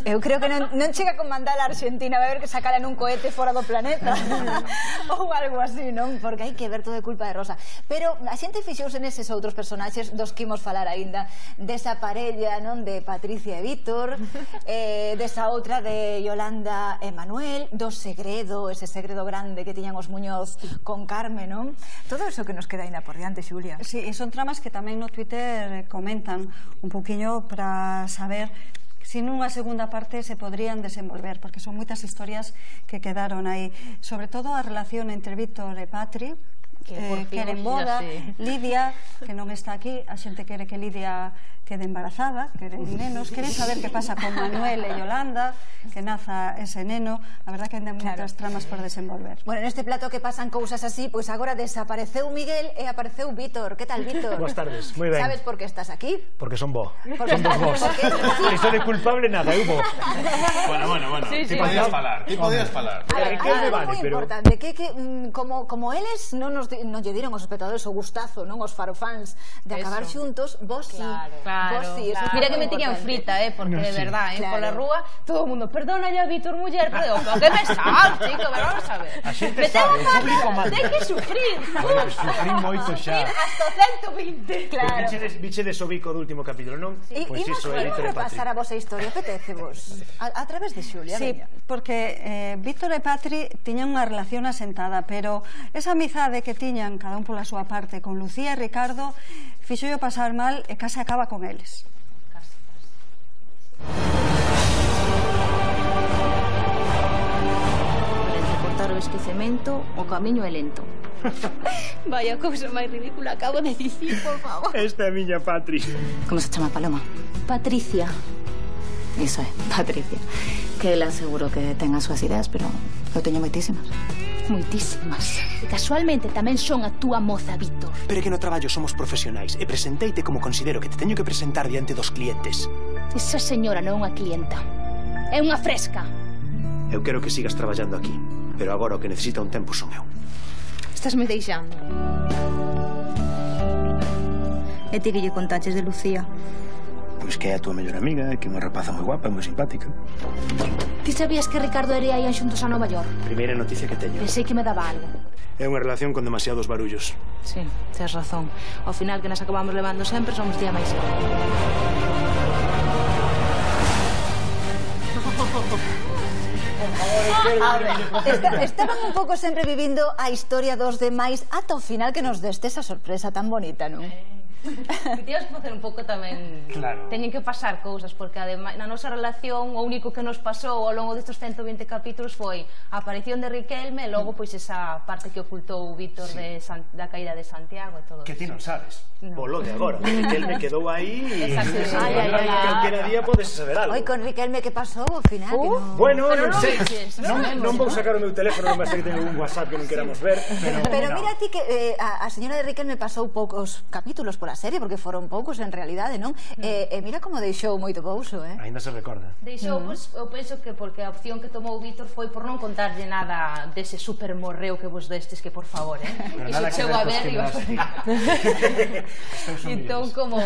S1: Eu creo que non chega con mandar a Argentina a ver que sacala nun cohete fora do planeta ou algo así, non? Porque hai que ver todo de culpa de Rosa. Pero a xente fixouse neses outros personaxes dos que imos falar aínda, desa parella, non? De Patricia e Víctor, desa outra de Yolanda e Manuel, do segredo, ese segredo grande que tiñan os Muñoz con Carme, non? Todo eso que nos queda aínda por diante, Xulia.
S4: Sí, e son tramas que tamén no Twitter comentan un poquinho para saber si nunha segunda parte se podrían desenvolver, porque son moitas historias que quedaron aí, sobre todo a relación entre Víctor e Patri, que queren boda, Lidia, que non está aquí, a xente quere que Lidia quede embarazada, queren nenos, queren saber que pasa con Manuel e Yolanda, que naza ese neno. A verdad que hai moitas tramas por desenvolver.
S1: Bueno, neste plato que pasan cousas así, pois agora desapareceu Miguel e apareceu Víctor. Que tal, Víctor?
S3: Boas tardes, moi ben.
S1: Sabes por que estás aquí?
S3: Porque son bo. Son dos vos. Isto de culpable nada, eu bo.
S2: Bueno, ti podías falar.
S1: Hai algo moi importante, que como eles non lle diron aos espectadores o gustazo, non os farofans de acabar xuntos, vos sí.
S22: Mira que me tiñan frita, porque de verdad, pola rúa, todo o mundo, perdona ya, Víctor, muller, pero que me sal, chico, pero vamos a ver.
S3: A xente sabe, o público manda.
S22: Ten que sufrir.
S3: Sufrir moito xa.
S22: Hasta 120.
S3: Claro. Bichedes o bico do último capítulo, non?
S1: Pois iso é Víctor e Patri. Pasar a vosa historia, apetece vos? A través de Xulia,
S4: sí, porque Víctor e Patri tiñan unha relación asentada, pero esa amizade que tiñan cada un pola súa parte con Lucía e Ricardo fixo pasar mal e case acaba con eles.
S12: Entre cortar o esquecemento, o camiño é lento.
S17: Vaya cousa máis ridícula acabo de dicir, por favor.
S3: Esta é a miña Patri.
S12: Como se chama, Paloma? Patricia. Iso é, Patricia. Que ela seguro que ten as súas ideas, pero eu teño moitísimas. Moitísimas.
S17: E casualmente tamén son a túa moza, Víctor.
S3: Pero é que no traballo somos profesionais e presenteite como considero que te teño que presentar diante dos clientes.
S17: Esa señora non é unha clienta, é unha fresca.
S3: Eu quero que sigas traballando aquí, pero agora o que necesita un tempo son eu.
S17: Estás me deixando.
S12: E ti que lle contaches de Lucía?
S3: Pois que é a túa mellor amiga, que é unha rapaza moi guapa e moi simpática.
S17: Ti sabías que Ricardo e Ere ian xuntos a Nova York?
S3: Primeira noticia que teño.
S17: Pensei que me daba algo.
S3: É unha relación con demasiados barullos.
S12: Sí, tes razón. Ao final que nos acabamos levando sempre somos día máis.
S1: Estaban un pouco sempre vivindo a historia dos demais ata o final que nos deste esa sorpresa tan bonita, non?
S22: Que tías que facer un pouco tamén.
S3: Claro.
S22: Teñen que pasar cousas, porque ademais na nosa relación o único que nos pasou ao longo destes 120 capítulos foi a aparición de Riquelme e logo pois esa parte que ocultou Víctor da caída de Santiago e todo.
S3: Que ti non sabes.
S22: No.
S3: Polo de agora. Riquelme quedou aí e calquera día podes saber algo.
S1: Oi, con Riquelme que pasou ao final?
S3: Bueno, non sei. Non vou sacar o meu teléfono, non vai ser que teño un WhatsApp que non queramos ver.
S1: Pero mira ti que a señora de Riquelme pasou poucos capítulos pola serie, porque foron poucos en realidade, non? E mira como deixou moito couso,
S3: Ainda se recorda.
S22: Deixou, pois, eu penso que porque a opción que tomou Víctor foi por non contarlle nada dese super morreo que vos destes, que por favor, Iso chegou a ver entón como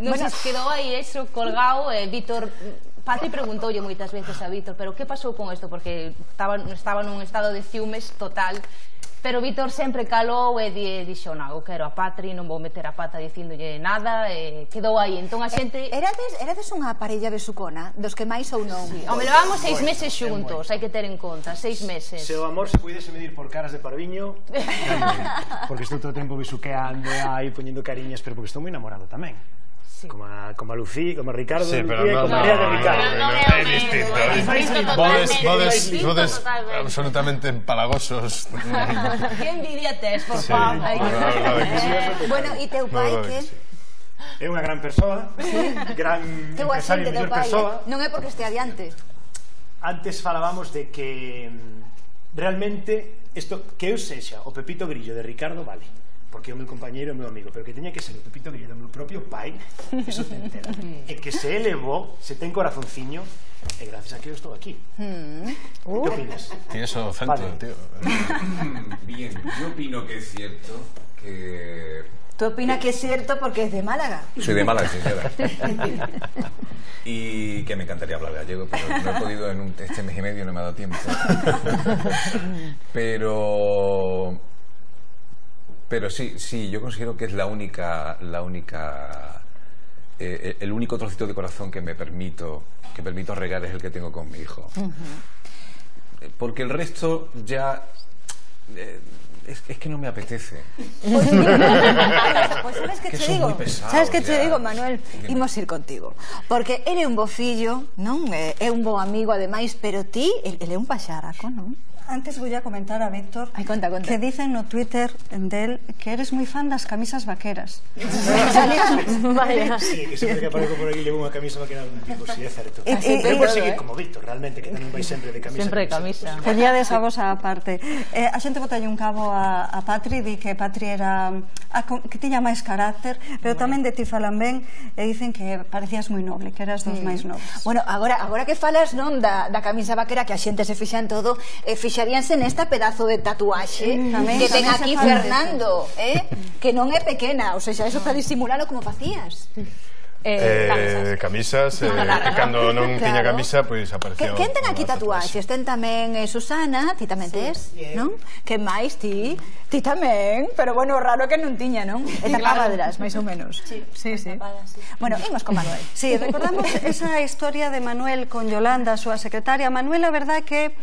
S22: non se quedou aí eso colgado e Vítor Patri preguntoulle moitas veces a Vítor, pero que pasou con isto? Porque estaba nun estado de ciúmes total. Pero Vítor sempre calou e dixo, non, eu quero a Patri, non vou meter a pata dicíndolle nada, e quedou aí. Entón a xente...
S1: Erades unha parella besucona, dos que máis ou non?
S22: Sí. Home, levamos 6 meses xuntos, hai que ter en conta, 6 meses.
S3: Se o amor se puidese medir por caras de parviño, porque estou todo o tempo besuqueando aí, poñendo cariñas, pero porque estou moi enamorado tamén. Sí. Como a Lucía, como a Ricardo,
S2: sí,
S3: Lucía, como a María de Ricardo.
S2: É distinto. Vodes absolutamente empalagosos.
S22: Que envidia tes, por favor.
S1: Bueno, e teu pai que?
S3: É unha gran persoa, gran empresario, mellor persoa.
S1: Non é porque este adiante.
S3: Antes falábamos de que realmente isto que eu sexa o Pepito Grillo de Ricardo vale, porque é o meu compañeiro e o meu amigo, pero que teña que ser o Pepito Grillo do meu propio pai, eso te entera. E que se elevou, se ten corazonciño, e gracias a que eu estou aquí. ¿Qué opinas?
S2: Tienes o centro, tío.
S15: Bien, yo opino que es cierto que
S1: Tú opinas que es cierto porque es de Málaga.
S15: Soy de Málaga, sí, señora. Y que me encantaría hablar gallego, pero no he podido en este mes y medio, no me ha dado tiempo. Pero sí, yo considero que es el único trocito de corazón que permito regar es el que tengo con mi hijo. Porque el resto ya es que no me apetece.
S1: Pues sabes que te digo, sabes que te digo, Manuel, imos ir contigo, porque ele é un bo fillo, non? É un bo amigo ademais, pero ti, ele é un paxaraco, non?
S4: Antes voy a comentar a Víctor que dicen no Twitter del que eres muy fan das camisas vaqueras.
S3: Vaya. Sí, que sempre que aparezco por aquí levo unha camisa vaquera de un tipo, sí, é certo. Eu por seguir como Víctor, realmente, que tamén vai sempre de camisa.
S12: Sempre de camisa.
S4: Poñades a vos a parte. A xente botalle un cabo a Patri, di que Patri era que tiña máis carácter, pero tamén de ti falan ben e dicen que parecías moi noble, que eras dos máis nobles.
S1: Bueno, agora que falas, non, da camisa vaquera, que a xente se fixa en todo, fixaríanse nesta pedazo de tatuaxe que ten aquí Fernando, que non é pequena, ou seja, eso para disimulalo como facías.
S2: Camisas, cando non tiña camisa, pois apareceu.
S1: Quen ten aquí tatuaxes? Ten tamén Susana, ti tamén tes, non? Que máis ti? Ti tamén, pero bueno, raro que non tiña, non? E tapabadras, máis ou menos. Sí. Bueno, imos con Manuel.
S4: Sí, recordamos esa historia de Manuel con Yolanda, a súa secretaria. Manuel, a verdade que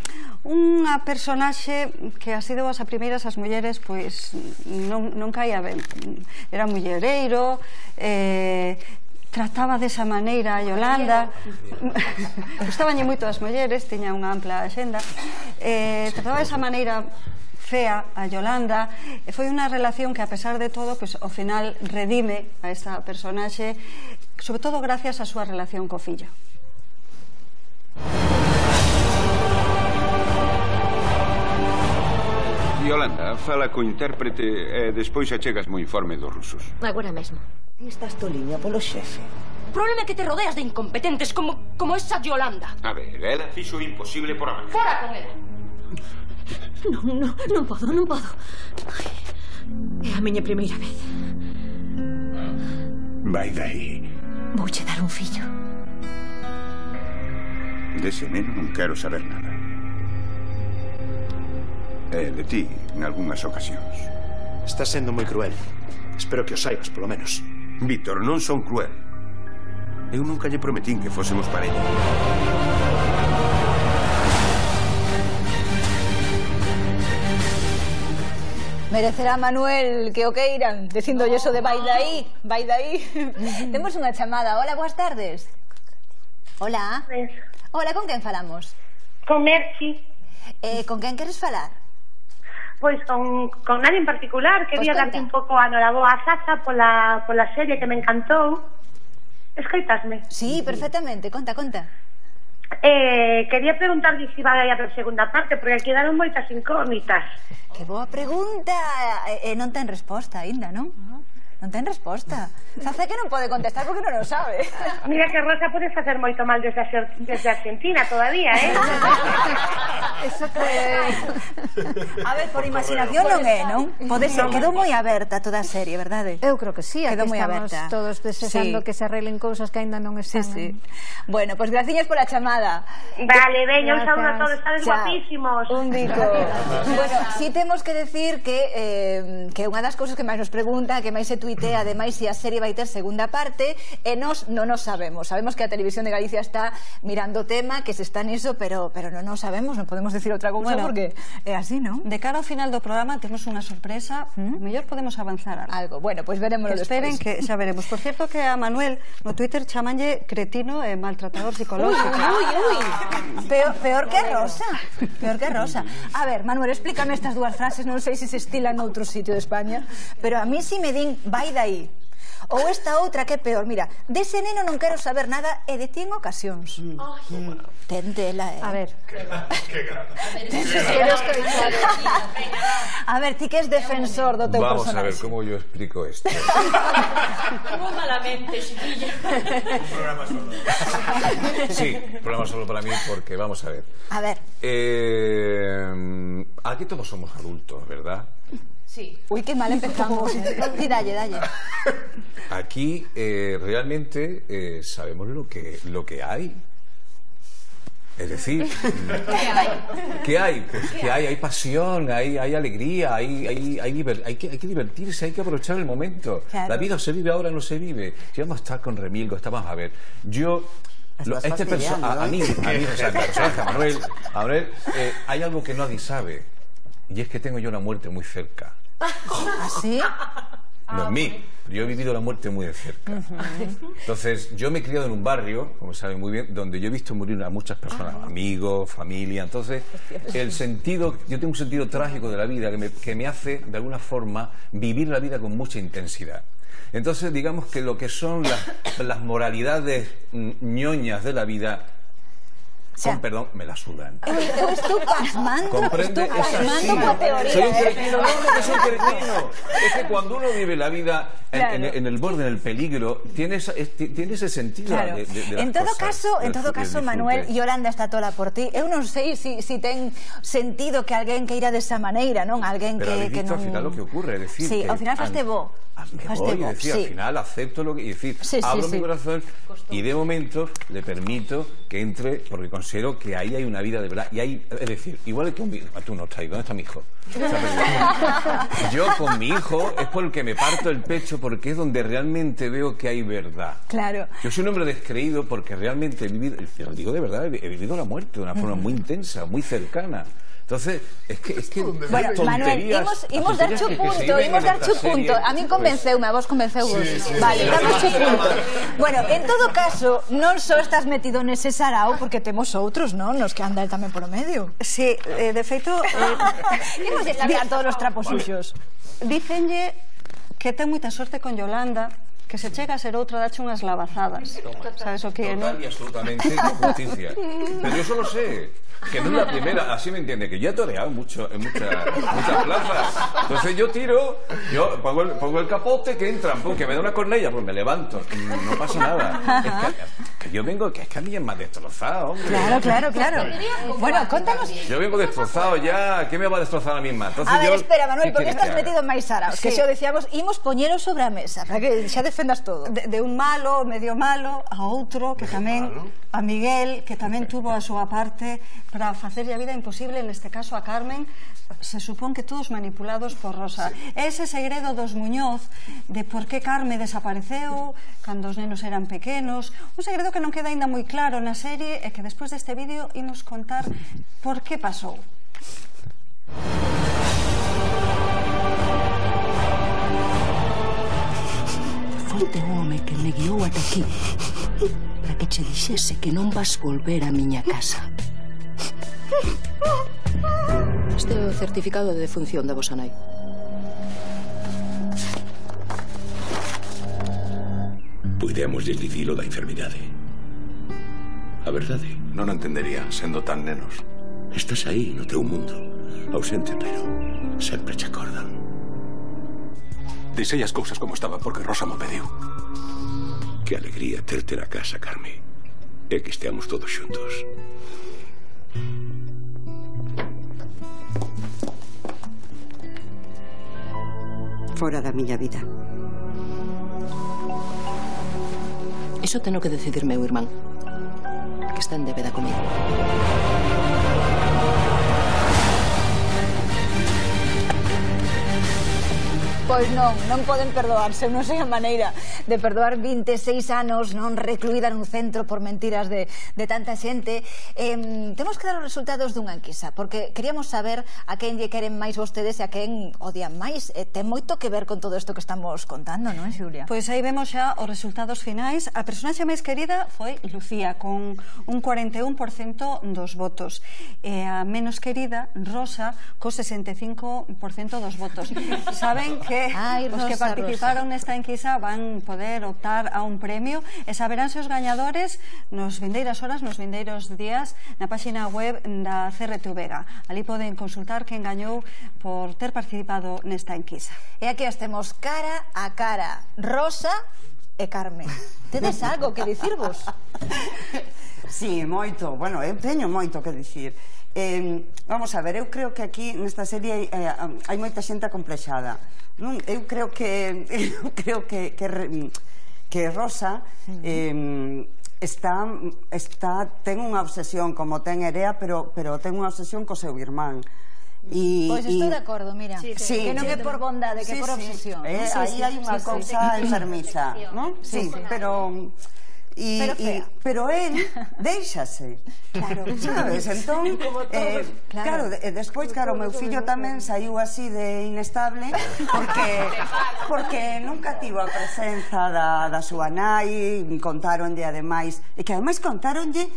S4: unha personaxe que así de boas a primeiras as mulleres pois non caía ben. Era mullereiro, trataba desa maneira a Yolanda, gustabanlle moito as mulleres, tiña unha ampla axenda, trataba desa maneira fea a Yolanda, e foi unha relación que a pesar de todo, pois ao final redime a esta personaxe, sobre todo gracias a súa relación co fillo.
S18: Yolanda, fala co intérprete e despois achegas mo informe dos rusos.
S17: Agora mesmo.
S19: Estás toliña polo xefe.
S17: O problema é que te rodeas de incompetentes como esa Yolanda.
S18: A ver, ela fixo o imposible por amar.
S17: Fora con ela. Non podo. É a miña primeira vez.
S18: Vai dai.
S17: Vouche dar un fillo.
S18: Dese neno non quero saber nada. E de ti, en algunhas ocasións.
S3: Estás sendo moi cruel. Espero que o saibas, polo menos.
S18: Víctor, non son cruel. Eu nunca lle prometín que fósemos parella.
S1: Merecerá Manuel que o queiran, dicindolle eso de vai dai. Temos unha chamada. Hola, boas tardes. Hola. Hola, con quen falamos?
S11: Con Merchi.
S1: Con quen queres falar?
S11: Pois con nadie en particular. Quería darte un pouco a noraboa a Sasa pola serie que me encantou. Escoitasme?
S1: Sí, perfectamente. Conta.
S11: Quería preguntarlle se vai a haber segunda parte, porque quedaron moitas incógnitas.
S1: Que boa pregunta. Non ten resposta aínda, non? Non ten resposta. Sabe que non pode contestar porque non o sabe.
S11: Mira que Rosa pode facer moito mal desde Argentina todavía,
S1: Eso que... A ver, por imaginación non é, non? Pode ser, quedou moi aberta toda a serie, verdade?
S24: Eu creo que sí,
S1: quedou
S24: aquí
S1: moi
S24: estamos
S1: aberta.
S24: Todos desexando que se arreglen cousas que aínda non están.
S1: Sí. Bueno, pois graciñas pola chamada.
S11: Vale, veña, un saúdo a todos, estades guapísimos.
S1: Un bico. Bueno, si temos que decir que unha das cousas que máis nos pregunta, que máis se tuitea, ademais, se a serie vai ter segunda parte, e nos non nos sabemos. Sabemos que a Televisión de Galicia está mirando o tema, que se está niso, pero non nos sabemos, non podemos decir outra cousa, porque é así, non?
S4: De cara ao final do programa temos unha sorpresa, mellor podemos avanzar
S1: algo. Bueno, pois verémoslo despois.
S4: Esperen que xa veremos. Por cierto, que a Manuel no Twitter chamanlle cretino e maltratador psicológico.
S1: Peor que Rosa. A ver, Manuel, explícame estas dúas frases, non sei se se estilan noutro sitio de España, pero a mí si me din vai dai. Ou esta outra que é peor, mira, dese neno non quero saber nada e de ti en ocasións. Tentela,
S24: A ver.
S1: A ver, ti que és defensor do teu personaxe.
S15: Vamos a ver como yo explico esto.
S17: Moi malamente, chiquilla.
S18: Un programa solo.
S15: Sí, programa solo para mí porque, vamos a ver.
S1: A ver.
S15: Aquí todos somos adultos, ¿verdad?
S22: Sí.
S1: Uy, qué mal empezamos. Sí, dalle.
S15: Aquí realmente sabemos lo que hay. Es decir, ¿qué hay? Pues que hay pasión, hay alegría, hay que divertirse, hay que aprovechar el momento.
S1: Claro.
S15: La vida se vive ahora, no se vive. Si vamos a estar con Remilgo, estamos a ver. Este personaje, a mí, o sea, el personaje, a Manuel, hay algo que nadie sabe, y es que tengo yo una muerte muy cerca.
S1: ¿Ah, sí?
S15: No en mí, pero yo he vivido la muerte muy de cerca. Entonces, yo me he criado en un barrio, como saben muy bien, donde yo he visto morir a muchas personas, amigos, familia. Entonces, yo tengo un sentido trágico de la vida que me hace, de alguna forma, vivir la vida con mucha intensidad. Entonces, digamos que lo que son las moralidades ñoñas de la vida, perdón, me la sudan.
S1: Estou pasmando.
S15: Comprende,
S1: es así.
S15: Soy un cretino, no que soy un cretino. Es que cuando uno vive la vida en el borde, en el peligro, tiene ese sentido
S1: claro.
S15: de
S1: en todo caso, Manuel, Yolanda está toda por ti. Eu non sei si ten sentido que alguén que ira desa maneira, non? Alguén
S15: pero
S1: que non...
S15: Pero al final lo que ocurre, es decir...
S1: Sí,
S15: que
S1: ao final faste bo.
S15: Al final acepto lo que... Es decir, abro mi corazón y de momento le permito que entre, porque considero que ahí hay una vida de verdad. Y hay, es decir, igual que tú no estás ahí, ¿dónde está mi hijo? Yo con mi hijo es por el que me parto el pecho, porque es donde realmente veo que hay verdad.
S1: Claro.
S15: Yo soy un hombre descreído porque realmente he vivido, lo digo de verdad, he vivido la muerte de una forma muy intensa, muy cercana. Entonces, es que
S1: bueno, Manuel, imos dar chu punto. A mí convenceume, a vos convenceu-vos. Sí, vale, damos chu punto. Bueno, en todo caso, non só estás metido nese sarao, porque temos outros, non? Nos que anda el tamén por o medio.
S4: Sí, de feito...
S1: Imos sacar todos os trapos suxos.
S4: Dícenlle que ten moita sorte con Yolanda, que se chega a ser outra dache unhas lavazadas. Sabes o que é, non?
S15: Total y absolutamente justicia. Pero yo solo sé que no es la primera, así me entiende, que yo he toreado mucho en muchas plazas. Entonces yo tiro, yo pongo el capote, que entran, pum, que me da una cornella, pues me levanto, no pasa nada. Es que yo vengo, que es que a mí es más destrozado, hombre.
S1: Claro. Bueno, contanos.
S15: Yo vengo destrozado ya, ¿qué me va a destrozar a mí misma? Entonces,
S1: a ver, espera, Manuel, porque estás metido en máis saraos, que xa decíamos, imos poñero sobre a mesa, para que xa defendas todo.
S4: De un malo, medio malo, a outro, que tamén, a Miguel, que tamén tuvo a súa parte para facerlle a vida imposible, neste caso a Carmen, se supón que todos manipulados por Rosa. Ese segredo dos Muñoz de por que Carme desapareceu cando os nenos eran pequenos, un segredo que non queda aínda moi claro na serie e que despois deste vídeo imos contar por que pasou.
S17: Foi o home que me guiou ata aquí para que che dixese que non vas volver a miña casa. Este é o certificado de defunción da vosa nai.
S18: Puidemos dicilo da enfermidade. A verdade, non o entendería sendo tan nenos. Estás aí no teu mundo, ausente, pero sempre che acordan. Dixei as cousas como estaban porque Rosa mo pediu. Que alegría terte na casa, Carme. E que esteamos todos xuntos.
S19: Fora da miña vida.
S17: Iso teno que decidir meu irmán, que está en débeda comigo.
S1: Pois non poden perdoarse, non sei a maneira de perdoar 26 anos non recluída nun centro por mentiras de tanta xente. Temos que dar os resultados dunha enquisa, porque queríamos saber a quen lle queren máis vostedes e a quen odian máis. Ten moito que ver con todo isto que estamos contando, non, Xulia?
S4: Pois aí vemos xa os resultados finais. A personaxe máis querida foi Lucía, con un 41% dos votos. E a menos querida, Rosa, co 65% dos votos. Saben que os que participaron nesta enquisa van poder optar a un premio e saberánse os gañadores nos vindeiras horas, nos vindeiros días na páxina web da CRTV. Ali poden consultar quen gañou por ter participado nesta enquisa.
S1: E aquí estemos cara a cara, Rosa e Carmen. Tedes algo que dicirvos?
S7: Sí, moito. Bueno, eu teño moito que dicir. Vamos a ver, eu creo que aquí nesta serie hai moita xente acomplexada. Eu creo que Rosa ten unha obsesión como ten Erea, pero ten unha obsesión co seu irmán.
S1: Pois estou de acordo, mira, que non é por bondade, que é por obsesión.
S7: Aí hai unha cousa enfermiza, non? Sí, pero él déixase, sabes? Entón, claro, despois, claro, o meu fillo tamén saiu así de inestable porque nunca tivo a presenza da súa nai, contáronlle ademais, e que ademais contáronlle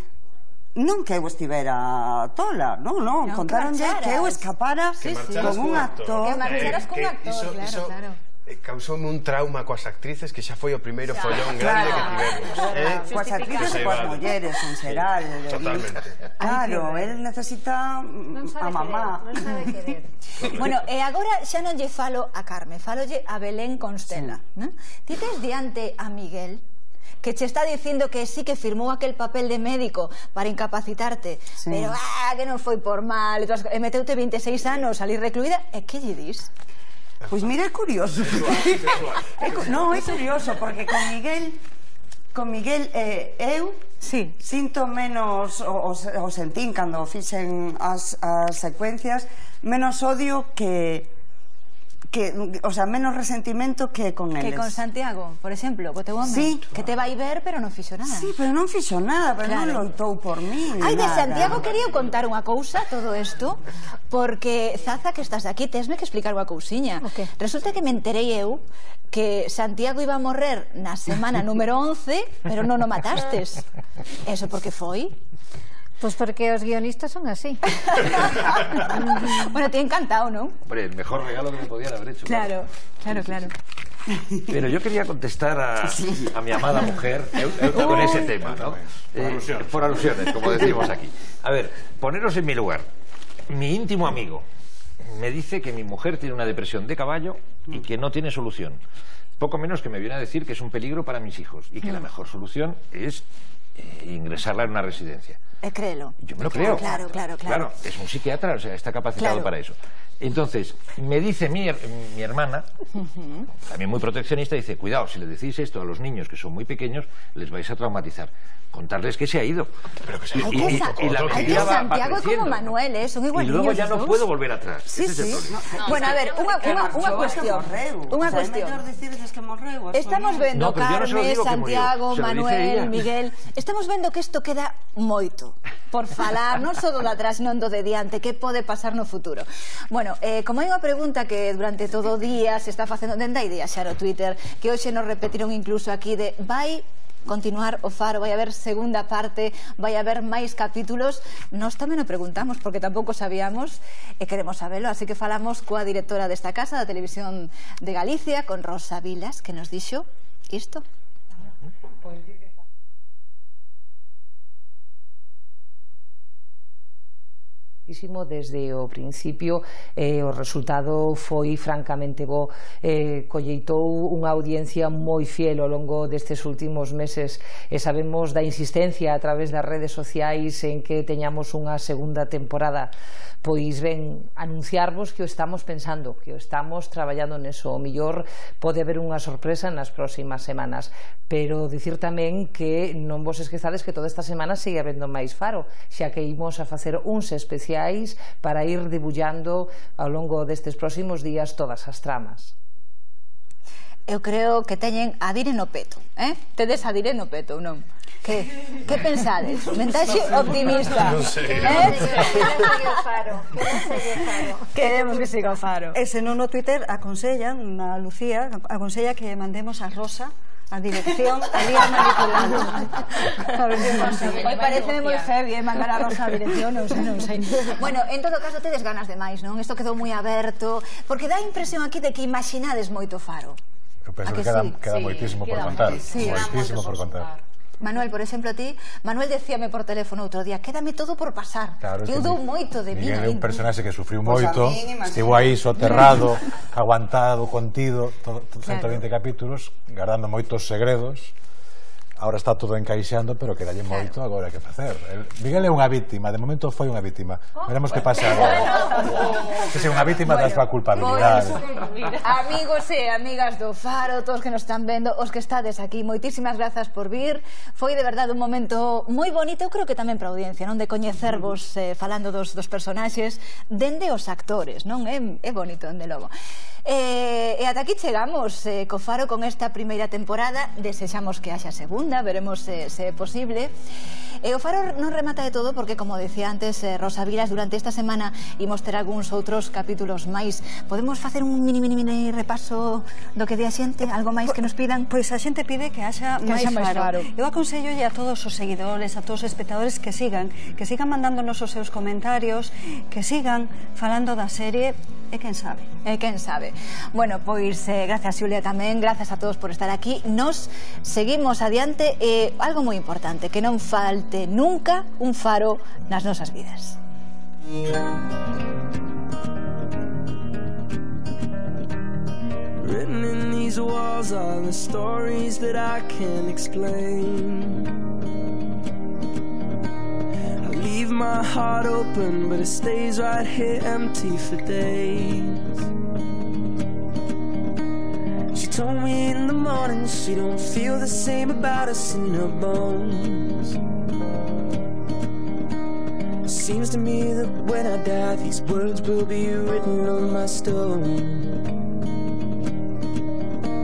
S7: non que eu estivera tola, non, contáronlle que eu escapara con un actor.
S1: Que marcharas con un actor, claro.
S2: Causoume un trauma coas actrices que xa foi o primeiro follón grande que tivemos.
S7: Coas actrices e coas mulleres en xeral.
S2: Totalmente.
S7: Claro, él necesita a mamá.
S1: Non sabe querer. Bueno, e agora xa non lle falo a Carme, falolle a Belén Constela. Ti tes diante a Miguel, que che está dicindo que sí que firmou aquel papel de médico para incapacitarte, pero que non foi por mal, e meteute 26 anos ali recluída, e que lle dis?
S7: Pois mira, é curioso. Non, é curioso, porque con Miguel eu sinto menos, o sentín cando fixen as secuencias, menos odio o sea, menos resentimento que con eles.
S1: Que con Santiago, por exemplo, co teu home, que te vai ver, pero non fixo nada.
S7: Sí, pero non fixo nada, pero non loitou por mí.
S1: Ai, de Santiago quería contar unha cousa, todo isto, porque, Zaza, que estás aquí, tesme que explicar unha cousiña. Resulta que me enterei eu que Santiago iba a morrer na semana número 11, pero non o matastes. Eso porque foi?
S24: Pois porque os guionistas son así.
S1: Bueno, te he encantado, ¿no?
S8: Hombre, el mejor regalo que me podían haber hecho.
S1: Claro.
S8: Pero yo quería contestar a mi amada mujer con ese tema, ¿no? Por alusiones, como decimos aquí. A ver, poneros en mi lugar. Mi íntimo amigo me dice que mi mujer tiene una depresión de caballo y que no tiene solución. Poco menos que me viene a decir que es un peligro para mis hijos y que la mejor solución es ingresarla en una residencia.
S1: Créelo.
S8: Yo me lo creo.
S1: Claro.
S8: Es un psiquiatra, o sea, está capacitado para eso. Entonces, me dice mi hermana, también muy proteccionista, dice, cuidado, si le decís esto a los niños que son muy pequeños, les vais a traumatizar. Contarles que se ha ido. Pero que se ha ido. Y la mentira va
S1: Santiago
S8: creciendo.
S1: Como Manuel, son igual.
S8: Y luego ya no puedo volver atrás.
S1: Sí.
S8: Ese es el problema.
S1: Bueno, a ver, unha cuestión. Estamos vendo, Carme, Santiago, Manuel, Miguel, estamos vendo que isto queda moito por falar, non só do de atrás, non do de diante, que pode pasar no futuro. Bueno, como hai unha pregunta que durante todo o día se está facendo dende hai días xa no Twitter, que hoxe nos repetiron incluso aquí, de vai continuar o Faro, vai haber segunda parte, vai haber máis capítulos. Nós tamén o preguntamos porque tampouco sabíamos e queremos sabelo, así que falamos coa directora desta casa da Televisión de Galicia, con Rosa Vilas, que nos dixo isto.
S9: Desde o principio o resultado foi francamente bo, colleitou unha audiencia moi fiel ao longo destes últimos meses e sabemos da insistencia a través das redes sociais en que teñamos unha segunda temporada. Pois ben, anunciarvos que o estamos pensando, que o estamos traballando neso. O mellor pode haber unha sorpresa nas próximas semanas, pero dicir tamén que non vos esquezades que toda esta semana sigue habendo máis Faro, xa que imos a facer uns especiais para ir debullando ao longo destes próximos días todas as tramas.
S1: Eu creo que teñen a dire no peto, Tedes a dire no peto, non? Que pensades? Mensaxe optimista.
S2: Non sei.
S1: Queremos que siga o Faro.
S4: E se non no Twitter aconsellan, a Lucía aconsella que mandemos a Rosa a dirección ali a manipulando.
S1: Hoy parece moi heavy mandar a Rosa a dirección, non sei. Bueno, en todo caso tedes ganas de máis, non? Isto quedou moi aberto, porque dá a impresión aquí de que imaginades moito Faro.
S16: Eu penso que queda moitísimo por contar. Moitísimo por contar.
S1: Manuel, por exemplo, ti, Manuel decíame por teléfono outro día, quédame todo por pasar. Eu dou moito de mí.
S16: Miguel é un personaxe que sufriu moito, estivo aí soterrado, aguantado, contido, 120 capítulos, guardando moitos segredos, Ahora está todo encaixando, pero quedalle moito agora que facer. Miguel é unha víctima, de momento foi unha víctima. Veremos que pasa agora. Que sea unha víctima da súa culpabilidade.
S1: Amigos e amigas do Faro, todos que nos están vendo, os que estades aquí, moitísimas grazas por vir. Foi de verdade un momento moi bonito, eu creo que tamén para a audiencia, non, de coñecervos falando dos personaxes, dende os actores, non? É bonito, dende logo. E ata aquí chegamos co Faro con esta primeira temporada. Desexamos que haxa segunda, veremos se é posible. E o Faro non remata de todo porque, como decía antes Rosa Vilas, durante esta semana imos ter algúns outros capítulos máis. Podemos facer un mini repaso do que di a xente? Algo máis que nos pidan?
S4: Pois a xente pide que haxa máis Faro. Eu aconsellolle a todos os seguidores, a todos os espectadores que sigan mandándonos os seus comentarios, que sigan falando da serie. E quen sabe. Bueno, pois gracias, Xulia, tamén. Gracias a todos por estar aquí. Nos seguimos adiante. Algo moi importante, que non falte nunca un faro nas nosas vidas.
S5: Written in these walls are the stories that I can't explain. Leave my heart open, but it stays right here empty for days. She told me in the morning she don't feel the same about us in her bones. It seems to me that when I die, these words will be written on my stone.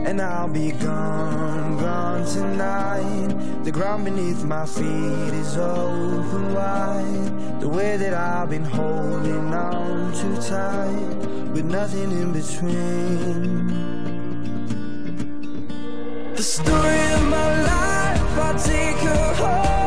S5: And I'll be gone, gone tonight. The ground beneath my feet is open wide. The way that I've been holding on too tight, with nothing in between. The story of my life, I'll take her home.